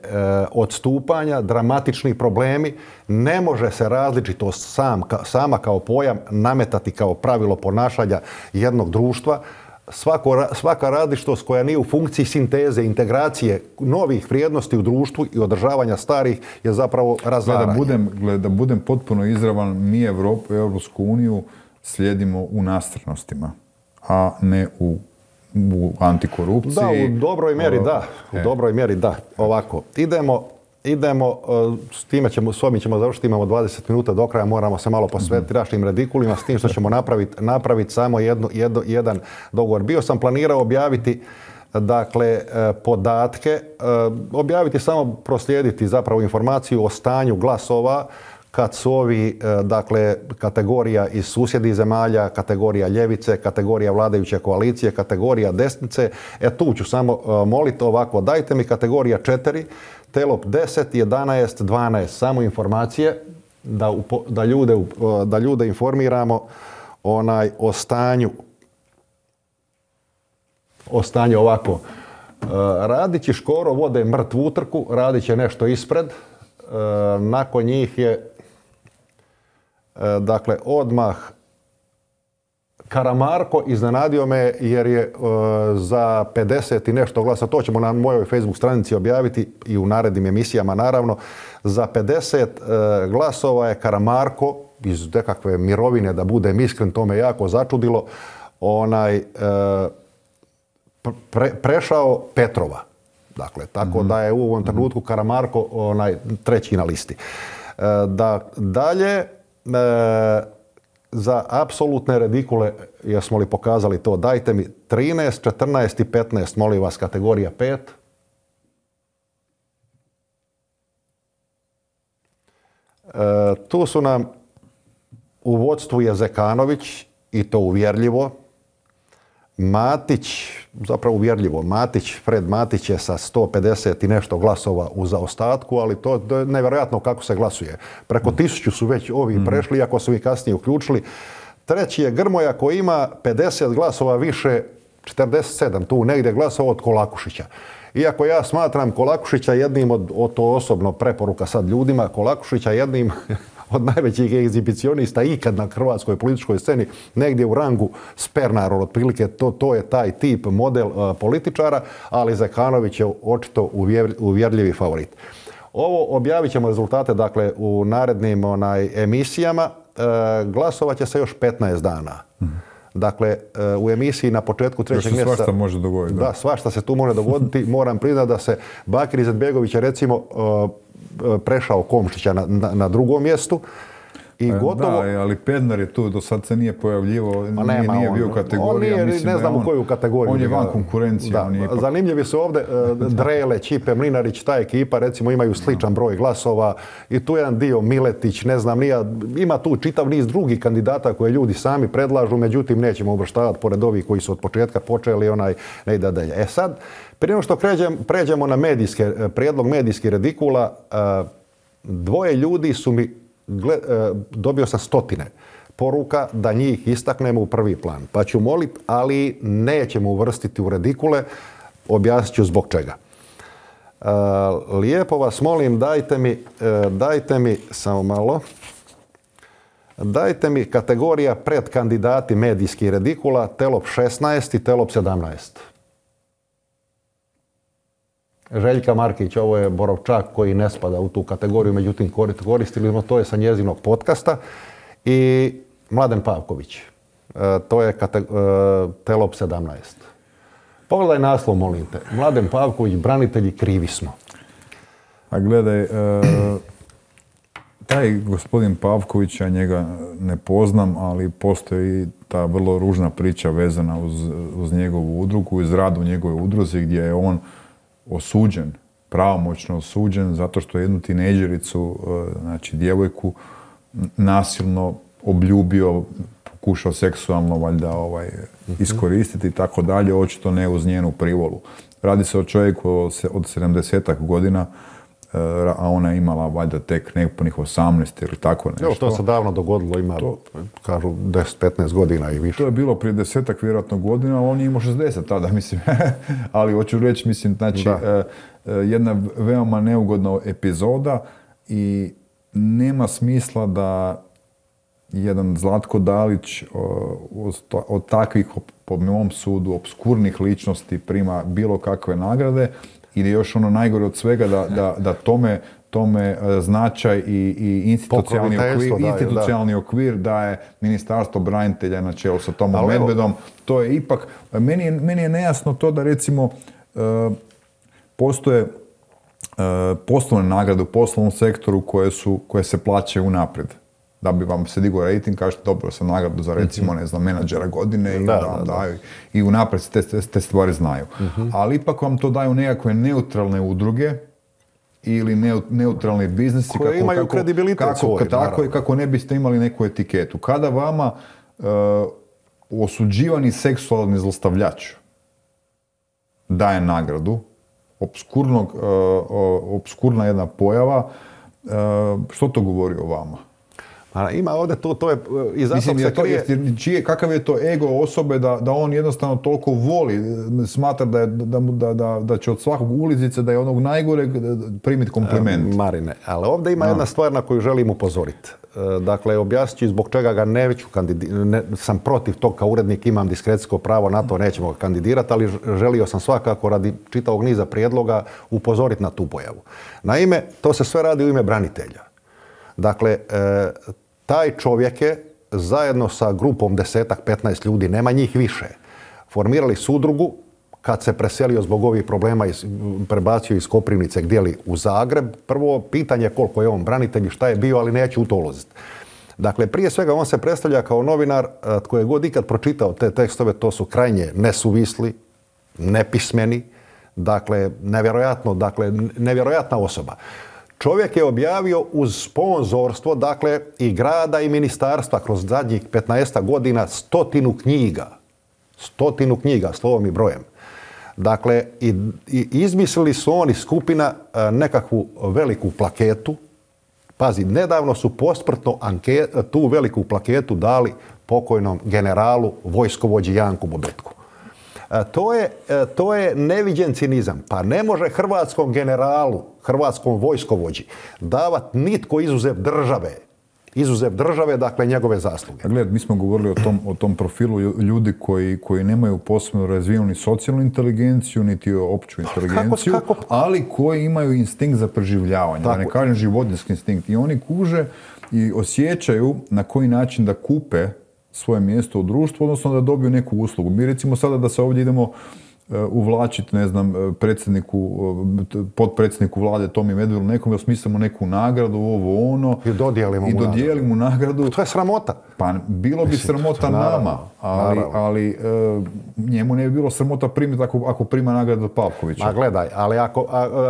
odstupanja, dramatični problemi. Ne može se različitost sama kao pojam nametati kao pravilo ponašanja jednog društva. Svaka različitost koja nije u funkciji sinteze, integracije novih vrijednosti u društvu i održavanja starih je zapravo razaranje. Da budem potpuno izravan, mi Europsku uniju slijedimo u nastrnostima, a ne u antikorupciji. Da, u dobroj mjeri da. Ovako, idemo, s ovim ćemo završiti, imamo 20 minuta do kraja, moramo se malo posvetiti našim redikulima, s tim što ćemo napraviti samo jedan dogovor. Bio sam planirao objaviti podatke, samo proslijediti zapravo informaciju o stanju glasova kad su ovi, kategorija iz susjednih zemalja, kategorija ljevice, kategorija vladajuće koalicije, kategorija desnice. Tu ću samo moliti ovako, dajte mi kategorija 4, Telop 10, 11, 12, samo informacije da ljude informiramo o stanju ovako. Radić i Škoro vode mrtvu utrku, Radić je nešto ispred. Nakon njih je dakle odmah Karamarko. Iznenadio me jer je za 50 i nešto glasa, to ćemo na mojoj Facebook stranici objaviti i u narednim emisijama naravno, za 50 glasova je Karamarko iz nekakve mirovine, da budem iskren, to me jako začudilo, prešao Petrova. Dakle, tako da je u ovom trenutku Karamarko treći na listi. Dalje, za apsolutne redikule, jesmo li pokazali to, dajte mi 13, 14 i 15, molim vas, kategorija 5. Tu su nam u vodstvu je Zekanović i to uvjerljivo. Matić, zapravo uvjerljivo, Fred Matić je sa 150 i nešto glasova u zaostatku, ali to je nevjerojatno kako se glasuje. Preko 1000 su već ovi prešli, iako su ih kasnije uključili. Treći je Grmoja koji ima 50 glasova više, 47 tu negdje glasova od Kolakušića. Iako ja smatram Kolakušića jednim od to osobno preporuka sad ljudima, Kolakušića jednim od najvećih egzibicionista ikad na hrvatskoj političkoj sceni, negdje u rangu s Pernarom, otprilike to je taj tip, model političara, ali Zekanović je očito uvjerljivi favorit. Ovo objavit ćemo rezultate dakle u narednim emisijama. Glasovat će se još 15 dana. Dakle, u emisiji na početku trećeg mjeseca... Svašta može dogoditi. Da, svašta se tu može dogoditi. Moram priznati da se Bakir Izetbegović je recimo prešao Komšića na drugom mjestu. I gotovo... Da, ali Pernar je tu, do sad se nije pojavljivo, nije bio u kategoriji. Ne znam u koju kategoriju. On je van konkurencije. Zanimljivi su ovdje Drele, Ćipe, Mlinarić, ta ekipa recimo imaju sličan broj glasova i tu jedan dio Miletić, ne znam, ima tu čitav niz drugih kandidata koje ljudi sami predlažu, međutim nećemo uvrštavati pored ovih koji su od početka počeli, ne ide dalje. Sad, prije nego što pređemo na prijedlog medijskih redikula, dvoje ljudi su mi dobio sam 100 poruka da njih istaknemo u prvi plan. Pa ću moliti, ali nećemo uvrstiti u redikule. Objasnit ću zbog čega. Lijepo vas molim, dajte mi samo malo. Dajte mi kategorija pred kandidati medijskih redikula, Telop 16 i Telop 17. Željka Markić, ovo je Borovčak koji ne spada u tu kategoriju, međutim koristili smo, to je sa njezinog podcasta. I Mladen Pavković, to je Telop 17. Pogledaj naslov, molim te. Mladen Pavković, branitelji, krivi smo. A gledaj, taj gospodin Pavković, ja njega ne poznam, ali postoji ta vrlo ružna priča vezana uz njegovu udrugu, iz rada u njegovoj udruzi gdje je on osuđen, pravomoćno osuđen zato što je jednu tinejdžericu, znači djevojku, nasilno obljubio, pokušao seksualno valjda iskoristiti i tako dalje, očito ne uz njenu privolu. Radi se o čovjeku od 70-ak godina, a ona je imala valjda tek nepunih 18 ili tako nešto. Evo, to se davno dogodilo, ima, kažu, 10-15 godina i više. To je bilo prije 10-ak vjerojatno godina, ali on je imao 60 tada, mislim. Ali hoću reći, mislim, znači, jedna veoma neugodna epizoda i nema smisla da jedan Zlatko Dalić od takvih, po mom sudu, obskurnih ličnosti prima bilo kakve nagrade i još ono najgore od svega da tome značaj i institucionalni okvir daje Ministarstvo branitelja na čelu sa Tomom Medvedom. To je ipak, meni je nejasno to da recimo postoje poslovne nagrade u poslovnom sektoru koje se plaćaju unaprijed. Da bi vam se digao rating, kažete dobro sam nagradu za recimo, ne znam, menadžera godine i da daju. I unaprijed se te stvari znaju. Ali ipak vam to daju nekakve neutralne udruge ili neutralni biznisi koje imaju kredibilitet svoj. Tako i kako ne biste imali neku etiketu. Kada vama osuđivani seksualni zlostavljač daje nagradu, obskurna jedna pojava, što to govori o vama? Ima ovdje to je i zato se krije. Kakav je to ego osobe da on jednostavno toliko voli, smatra da će od svakog ulizice, da je onog najgoreg primiti kompliment. Marine, ali ovdje ima jedna stvar na koju želim upozoriti. Dakle, objasnit ću zbog čega ga neću kandidirati. Sam protiv tog kao urednik, imam diskrecijsko pravo na to, nećemo ga kandidirati, ali želio sam svakako radi čitavog niza prijedloga upozoriti na tu pojavu. Naime, to se sve radi u ime branitelja. Dakle, taj čovjek je zajedno sa grupom 10-15 ljudi, nema njih više, formirali su udrugu kad se preselio zbog ovih problema, prebacio iz Koprivnice gdje li u Zagreb. Prvo, pitanje je koliko je on branitelj i šta je bio, ali neću u to ulaziti. Dakle, prije svega on se predstavlja kao novinar, tko je god ikad pročitao te tekstove, to su krajnje nesuvisli, nepismeni, dakle, nevjerojatna osoba. Čovjek je objavio uz sponzorstvo, dakle, i grada i ministarstva kroz zadnjih 15 godina 100 knjiga. 100 knjiga, slovom i brojem. Dakle, i izmislili su oni skupina nekakvu veliku plaketu. Pazi, nedavno su posmrtno tu veliku plaketu dali pokojnom generalu, vojskovođi Janku Bobetku. To je neviđen cinizam. Pa ne može hrvatskom generalu, hrvatskom vojskovođi davati nitko izuzev države, dakle njegove zasluge. Gled, mi smo govorili o tom profilu ljudi koji nemaju posebno razvijenu ni socijalnu inteligenciju, niti opću inteligenciju, ali koji imaju instinkt za preživljavanje, da ne kažem životinjski instinkt. I oni kuže i osjećaju na koji način da kupe svoje mjesto u društvu, odnosno da dobiju neku uslugu. Mi recimo sada da se ovdje idemo uvlačiti, ne znam, potpredsjedniku vlade Tomi Medvedu, nekom, jer smislimo neku nagradu, ovo ono. I dodijelimo nagradu. To je sramota. Pa bilo bi sramota nama, ali njemu ne bi bilo sramota primiti ako prima nagradu Pavkovića. Ma gledaj, ali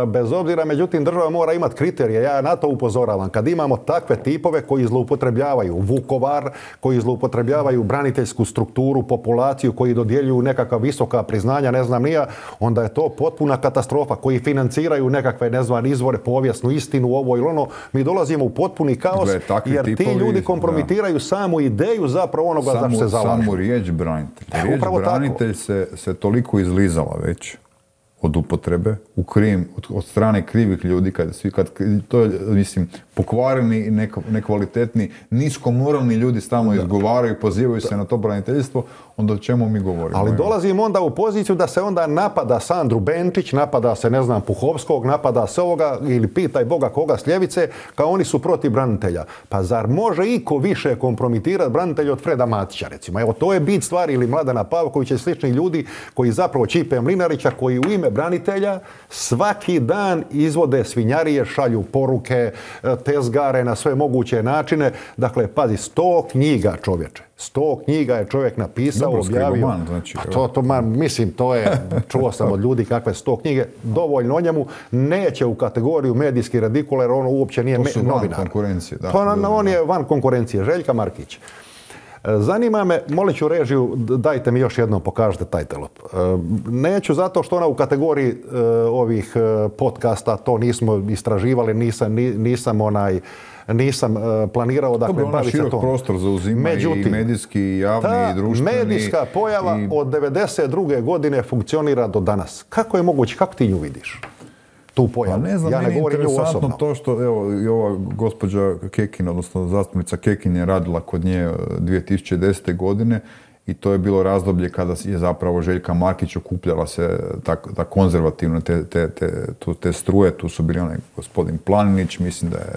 bez obzira, međutim, država mora imati kriterije. Ja na to upozoravam. Kad imamo takve tipove koji zloupotrebljavaju Vukovar, koji zloupotrebljavaju braniteljsku strukturu, populaciju, koji dodjeljuju nekakva visoka priznanja, ne znam nija, onda je to potpuna katastrofa, koji financiraju nekakve, ne znam, izvore, povijesnu istinu, ovo ili ono. Mi dolazimo u potpuni kaos, jer ti ljudi kompromitiraju samu ideju zapravo onoga za što se zalažu. Samo riječ branitelj. Riječ branitelj se toliko izlizala već od upotrebe od strane krivih ljudi, kad to je, mislim, pokvareni, nekvalitetni, niskomoralni ljudi stalno izgovaraju, pozivaju se na to braniteljstvo, onda o čemu mi govorimo? Ali dolazimo onda u poziciju da se onda napada Sandru Benčić, napada se, ne znam, Puhovskog, napada se ovoga ili pitaj Boga koga s ljevice, kao oni su protiv branitelja. Pa zar može iko više kompromitirati branitelja od Freda Matića, recimo? Evo, to je bit stvari, ili Mladena Pavkovića i slični ljudi koji zapravo Čipe Mlinarića, koji u ime branitelja svaki dan izvode svinjarije, šalju poruke, tezgare na sve moguće načine. Dakle, pazi, 100 knjiga, čovječe. 100 knjiga je čovjek napisao, objavio. Znači, mislim, to je, čuo sam od ljudi kakve 100 knjige, dovoljno o njemu, neće u kategoriju medijski radikular, jer ono uopće nije novinar. To su van konkurencije. On je van konkurencije. Željka Markić. Zanima me, molit ću režiju, dajte mi još jednom, pokažite taj telop. Neću zato što ona u kategoriji ovih podcasta, to nismo istraživali, nisam planirao da baviti se tom. Širok prostor zauzima i medijski, i javni, i društveni. Medijska pojava od 1992. godine funkcionira do danas. Kako je moguće, kako ti nju vidiš? Tu pojavu. Pa ne znam, ja ne govorim nju osobno. Interesantno to što, evo, i ova gospođa Kekin, odnosno zastupnica Kekin je radila kod nje 2010. godine i to je bilo razdoblje kada je zapravo Željka Markić okupljala se ta konzervativna te struje. Tu su bili onaj gospodin Planinić, mislim da je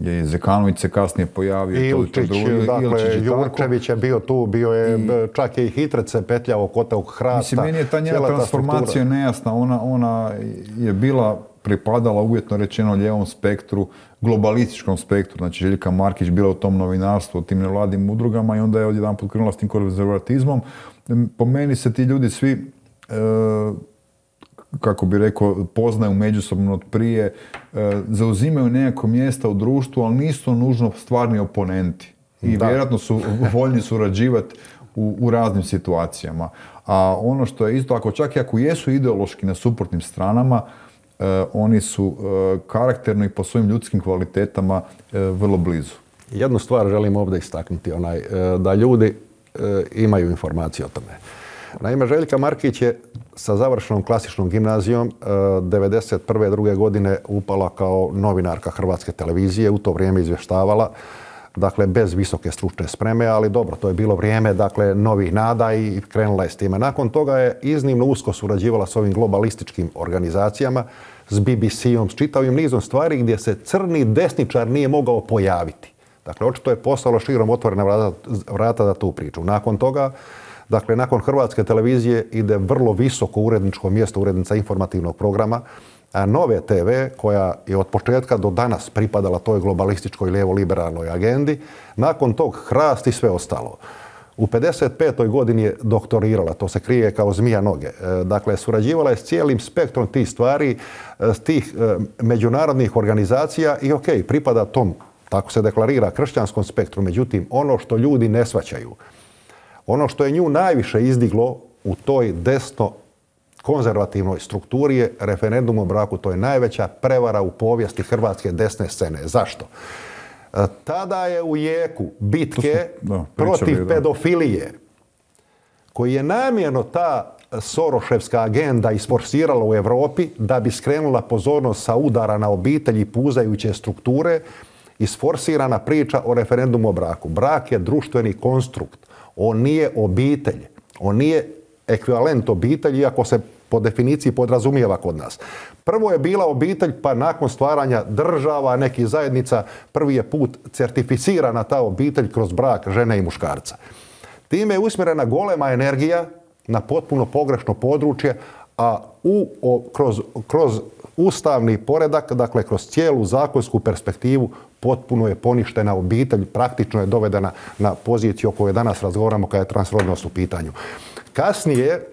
i Zekanović se kasnije pojavio. Ilčić, dakle, Jurčević je bio tu, bio je, čak je i Hitrec se petljao oko tog hrasta. Mislim, meni je ta njena transformacija nejasna. Ona je bila, pripadala uvjetno rečeno lijevom spektru, globalističkom spektru. Znači, Željka Markić bila u tom novinarstvu, u tim nevladinim udrugama i onda je odjedanput krenula s tim konzervatizmom. Po meni se ti ljudi svi kako bi rekao, poznaju međusobno od prije, zauzimaju nekako mjesta u društvu, ali nisu nužno stvarni oponenti. I vjerojatno su voljni surađivati u raznim situacijama. A ono što je isto, čak i ako jesu ideološki na suprotnim stranama, oni su karakterno i po svojim ljudskim kvalitetama vrlo blizu. Jednu stvar želim ovdje istaknuti, da ljudi imaju informacije o tome. Naime, Željka Markić je sa završenom klasičnom gimnazijom 1991. druge godine upala kao novinarka Hrvatske televizije, u to vrijeme izvještavala, dakle bez visoke stručne spreme, ali dobro, to je bilo vrijeme novih nada i krenula je s time. Nakon toga je iznimno usko surađivala s ovim globalističkim organizacijama, s BBC-om, s čitavim nizom stvari gdje se crni desničar nije mogao pojaviti. Dakle, očito je postalo širom otvorena vrata za tu priču. Nakon toga, nakon Hrvatske televizije ide vrlo visoko uredničko mjesto, urednica informativnog programa, a Nove TV, koja je od početka do danas pripadala toj globalističkoj lijevo-liberalnoj agendi, nakon tog Hrast i sve ostalo. U 55. godini je doktorirala, to se krije kao zmija noge. Dakle, surađivala je s cijelim spektrom tih stvari, s tih međunarodnih organizacija i pripada tom, tako se deklarira, kršćanskom spektru. Međutim, ono što ljudi ne shvaćaju, ono što je nju najviše izdiglo u toj desno-konzervativnoj strukturi je referendum o braku. To je najveća prevara u povijesti hrvatske desne scene. Zašto? Tada je u jeku bitke protiv pedofilije, koji je namjerno ta Soroševska agenda isforsirala u Europi da bi skrenula pozornost sa udara na obitelji puzajuće strukture, isforsirana priča o referendumu o braku. Brak je društveni konstrukt. On nije obitelj. On nije ekvivalent obitelji, iako se po definiciji podrazumijeva kod nas. Prvo je bila obitelj, pa nakon stvaranja država, nekih zajednica, prvi je put certificirana ta obitelj kroz brak žene i muškarca. Time je usmjerena golema energija na potpuno pogrešno područje, a kroz ustavni poredak, dakle kroz cijelu zakonsku perspektivu, potpuno je poništena obitelj, praktično je dovedena na poziciju o kojoj danas razgovaramo kada je transrodnost u pitanju. Kasnije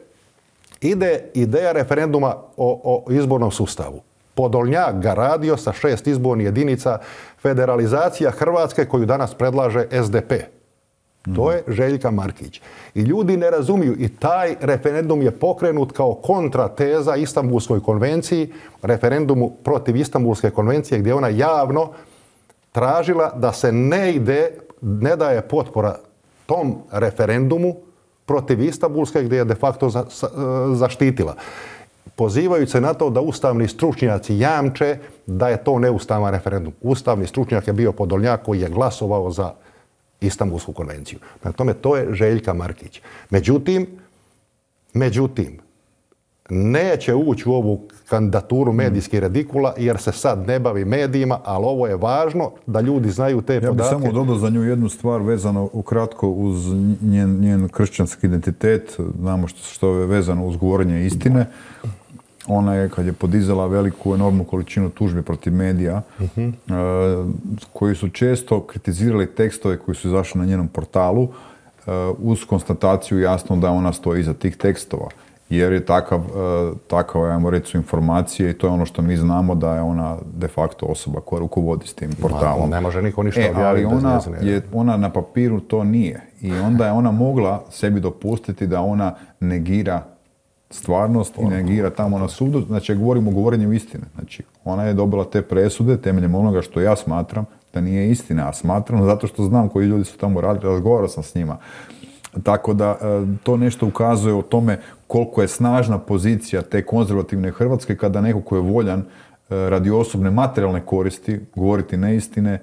ide ideja referenduma o izbornom sustavu. Podolnjak ga radio sa 6 izbornih jedinica, federalizacija Hrvatske koju danas predlaže SDP. To je Željka Markić. I ljudi ne razumiju, i taj referendum je pokrenut kao kontrateza Istanbulskoj konvenciji, referendumu protiv Istanbulske konvencije, gdje ona javno tražila da se ne daje potpora tom referendumu protiv Istanbulske, gdje je de facto zaštitila. Pozivajući se na to da ustavni stručnjaci jamče da je to neustavan referendum. Ustavni stručnjak je bio Podolnjak koji je glasovao za Istanbulsku konvenciju. Na tome, to je Željka Markić. Međutim, neće ući u ovu kandidaturu medijskih redikula jer se sad ne bavi medijima, ali ovo je važno da ljudi znaju te podatke. Ja bih samo dodao za nju jednu stvar vezano ukratko uz njen kršćanski identitet. Znamo što je vezano uz govorenje istine. Ona je, kad je podizala veliku, enormnu količinu tužbi protiv medija, koji su često kritizirali tekstove koji su izašli na njenom portalu, uz konstataciju jasno da ona stoji iza tih tekstova. Jer je takav, ajmo reći, su informacije i to je ono što mi znamo da je ona de facto osoba koja rukovodi s tim portalom. Ne može niko ništa objaviti bez njezine. Ona na papiru to nije. I onda je ona mogla sebi dopustiti da ona negira stvarnost i negira tamo na sudu. Znači, govorimo o govorenju istine. Znači, ona je dobila te presude temeljem onoga što ja smatram da nije istina, a smatram zato što znam koji ljudi su tamo radili, razgovarao sam s njima. Tako da to nešto ukazuje o tome koliko je snažna pozicija te konzervativne Hrvatske kada neko ko je voljan radi osobne materijalne koristi govoriti neistine,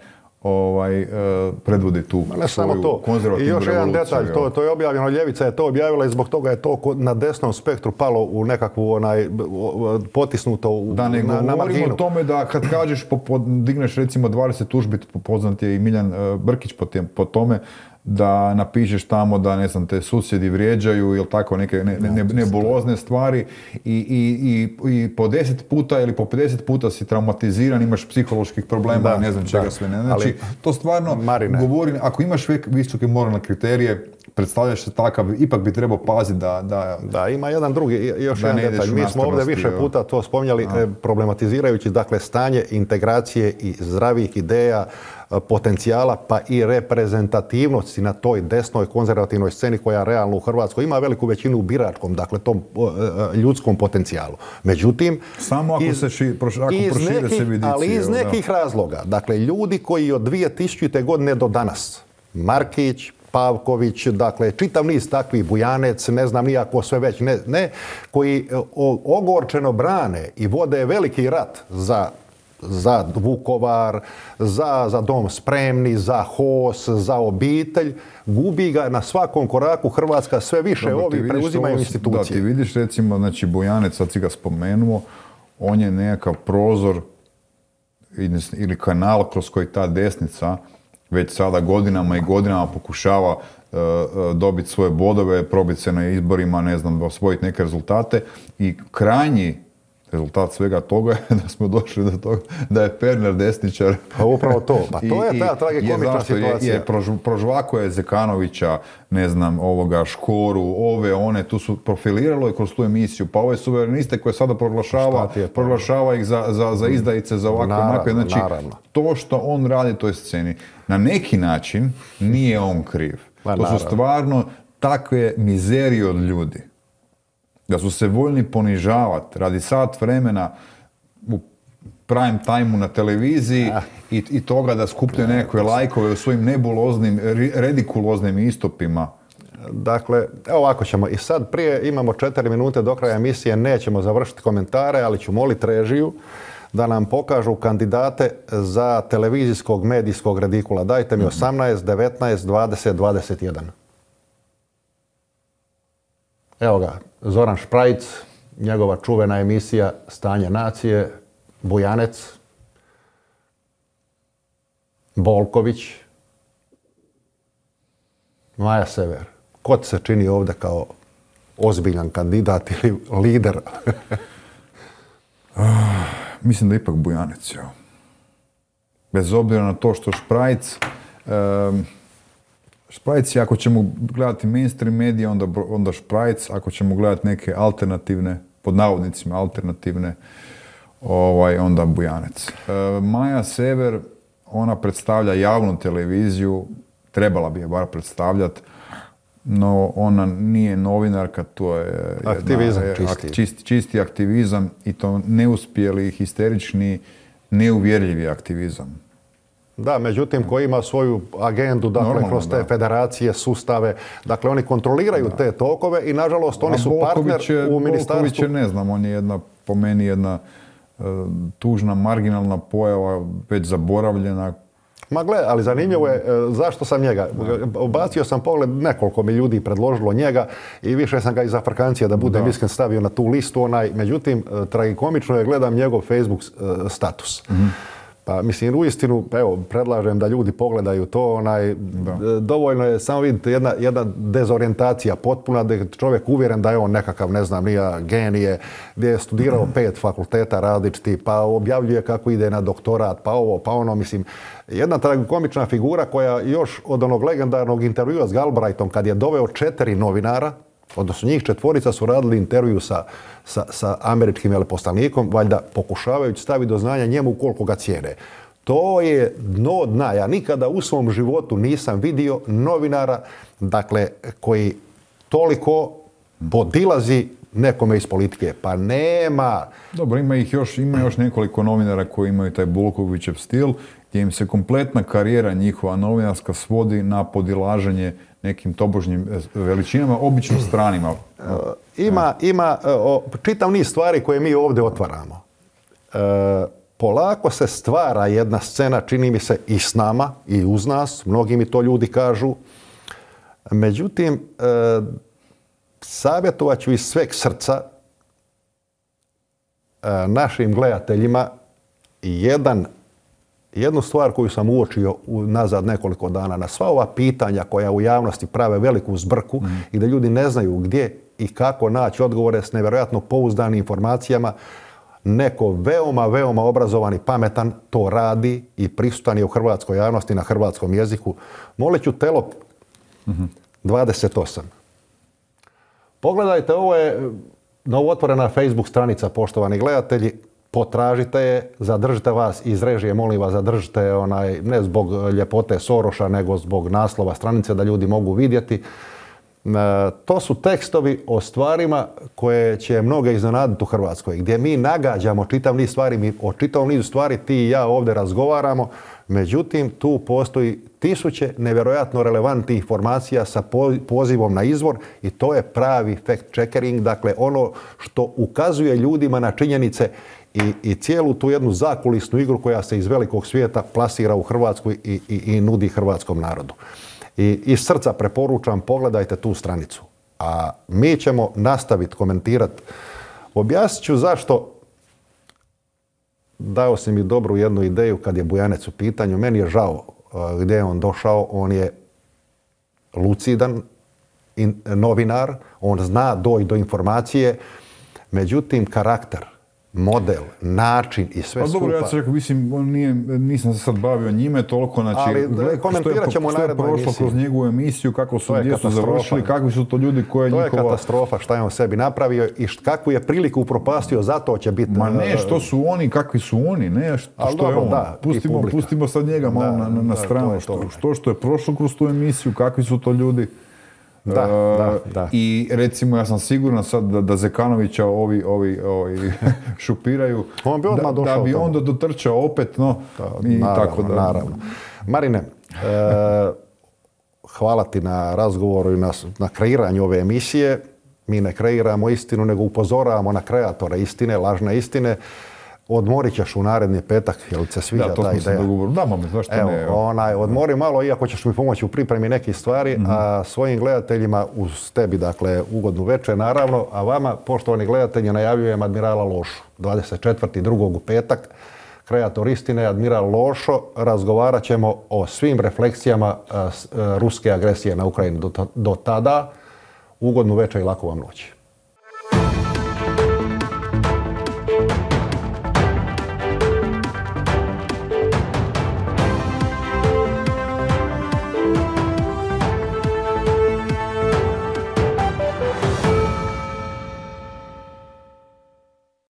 predvodi tu svoju konzervativnu revoluciju. I još jedan detalj, to je objavljeno, Ljevica je to objavila i zbog toga je to na desnom spektru palo u nekakvu potisnuto na marginu. Da ne govorimo o tome da kad kažeš, digneš recimo 20 tužbi, poznat je i Miljan Brkić po tome, da napišeš tamo da, ne znam, te susjedi vrijeđaju ili tako neke nebulozne stvari i po 10 puta ili po 50 puta si traumatiziran, imaš psiholoških problema, ne znam čega sve ne. Znači, to stvarno govori, ako imaš visoke moralne kriterije, predstavljaš se takav, ipak bi trebao paziti Da, ima jedan drugi, još jedan detalj. Mi smo ovdje više puta to spominjali, problematizirajući dakle stanje integracije i zdravih ideja, potencijala pa i reprezentativnosti na toj desnoj konzervativnoj sceni koja realno u Hrvatskoj ima veliku većinu u biračkom, dakle tom ljudskom potencijalu. Međutim, samo ako prošire se vidici. Ali iz nekih razloga, dakle ljudi koji od 2000. godine do danas, Markić, Pavković, dakle čitav niz takvih, Bujanec, ne znam nijako sve već, koji ogorčeno brane i vode veliki rat za Vukovar, za Dom spremni, za HOS, za obitelj, gubi ga na svakom koraku. Hrvatska sve više ovi preuzimaju institucije. Da, ti vidiš recimo, znači Bujanec, sad si ga spomenuo, on je nekakav prozor ili kanal kroz koji ta desnica već sada godinama i godinama pokušava dobiti svoje bodove, probiti se na izborima, ne znam, osvojiti neke rezultate i krajnji rezultat svega toga je da smo došli do toga da je Pernar desničar. Pa upravo to. Pa to je ta tragikomična situacija. Prožvako je Zekanovića, ne znam, Škoru, ove, one, tu su profiliralo i kroz tu emisiju. Pa ove suvereniste koje sada proglašava ih za izdajice, za ovakve. Znači, to što on radi toj sceni, na neki način nije on kriv. To su stvarno takve mizerije od ljudi. Da su se voljni ponižavati radi sat vremena u prime time-u na televiziji i toga da skupljaju nekakve lajkove u svojim nebuloznim, redikuloznim istupima. Dakle, ovako ćemo. I sad prije imamo 4 minute do kraja emisije, nećemo završiti komentare, ali ću moliti režiju da nam pokažu kandidate za televizijskog medijskog redikula. Dajte mi 18, 19, 20, 21. Evo ga, Zoran Šprajc, njegova čuvena emisija Stanje nacije, Bujanec, Bolković, Maja Sever. Ko se čini ovdje kao ozbiljan kandidat ili lider? Mislim da ipak Bujanec. Bez obzira na to što Šprajc... Šprajc, ako ćemo gledati mainstream medije, onda Šprajc, ako ćemo gledati neke alternativne, pod navodnicima alternativne, onda Bujanec. Maja Sever, ona predstavlja javnu televiziju, trebala bi je bar predstavljati, no ona nije novinarka, to je aktivizam, čisti aktivizam i to neuspjeli, histerični, neuvjerljivi aktivizam. Da, međutim, koji ima svoju agendu, dakle, kroz te federacije, sustave, dakle, oni kontroliraju te tokove i, nažalost, oni su partner u ministarstvu. Bolković je, ne znam, on je po meni jedna tužna, marginalna pojava, već zaboravljena. Ma gle, ali zanimljivo je zašto sam njega. Bacio sam pogled, nekoliko mi ljudi predložilo njega i više sam ga iz Afrikancija, da budem iskren, stavio na tu listu. Međutim, tragikomično je, gledam njegov Facebook status. Pa mislim, uistinu, evo, predlažem da ljudi pogledaju to, dovoljno je samo vidjeti jedna dezorijentacija potpuna, da je čovjek uvjeren da je on nekakav, ne znam, nija genije, gdje je studirao 5 fakulteta različitih, pa objavljuje kako ide na doktorat, pa ovo, pa ono, mislim, jedna tragikomična figura koja još od onog legendarnog intervjua s Galbraithom, kad je doveo 4 novinara, odnosno njih 4 su radili intervju sa američkim veleposlanikom, valjda pokušavajući staviti do znanja njemu koliko ga cijene. To je dno dna. Ja nikada u svom životu nisam vidio novinara, dakle, koji toliko podilazi nekome iz politike. Pa nema. Dobro, ima još nekoliko novinara koji imaju taj Bolkovićev stil, gdje im se kompletna karijera njihova novinarska svodi na podilaženje nekim tobožnjim veličinama, obično stranima. Ima čitav niz stvari koje mi ovdje otvaramo. Polako se stvara jedna scena, čini mi se, i s nama, i uz nas. Mnogi mi to ljudi kažu. Međutim, savjetovat ću iz sveg srca našim gledateljima jednu stvar koju sam uočio nazad nekoliko dana. Na sva ova pitanja koja u javnosti prave veliku zbrku i da ljudi ne znaju gdje i kako naći odgovore s nevjerojatno pouzdanim informacijama, neko veoma, veoma obrazovan i pametan to radi i prisutan je u hrvatskoj javnosti na hrvatskom jeziku. Molit ću Telo, 28. Pogledajte, ovo je novootvorena Facebook stranica, poštovani gledatelji. Potražite je, zadržite vas iz režije, molim vas, zadržite ne zbog ljepote Soroša, nego zbog naslova stranice da ljudi mogu vidjeti. To su tekstovi o stvarima koje će mnoge iznenaditi u Hrvatskoj, gdje mi nagađamo čitav niz stvari, mi o čitavom nizu stvari ti i ja ovdje razgovaramo, međutim tu postoji tisuće nevjerojatno relevantnih informacija sa pozivom na izvor i to je pravi fact-checkering, dakle ono što ukazuje ljudima na činjenice i cijelu tu jednu zakulisnu igru koja se iz velikog svijeta plasira u Hrvatskoj i nudi hrvatskom narodu. I iz srca preporučam, pogledajte tu stranicu. A mi ćemo nastaviti komentirati. Objasnit ću zašto. Dao si mi dobru jednu ideju kad je Bujanec u pitanju. Meni je žao gdje je on došao. On je lucidan novinar. On zna doći do informacije. Međutim, karakter, model, način i sve skupa. Dobro, ja sam rekao, mislim, nisam se sad bavio njime toliko, znači, komentirat ćemo što je prošlo kroz njegovu emisiju, kako su djecu završili, kakvi su to ljudi koje njihova... To je katastrofa šta je on sebi napravio i kakvu je priliku upropastio, zato će biti... Ma ne, što su oni, kakvi su oni, ne što je on. Pustimo sad njega malo na stranu. Što je prošlo kroz tu emisiju, kakvi su to ljudi. Da. I recimo ja sam siguran sad da Zekanovića ovi šupiraju, on bi odmah došao da bi onda dotrčao opet, tako da. Naravno. Marine, hvala ti na razgovoru i na kreiranju ove emisije. Mi ne kreiramo istinu, nego upozoravamo na kreatore istine, lažne istine. Odmorit ćeš u naredni petak, jel se sviđa ta ideja? Da, to smo se dogovorili. Da, mami, zašto ne? Odmori malo, iako ćeš mi pomoći u pripremi nekih stvari, a svojim gledateljima, uz tebi, dakle, ugodnu večer, naravno, a vama, poštovani gledatelji, najavljujem Admirala Lošu. 24.2. u petak, kreator istine, Admiral Lošo, razgovarat ćemo o svim refleksijama ruske agresije na Ukrajinu do tada. Ugodnu večer i laku vam noć.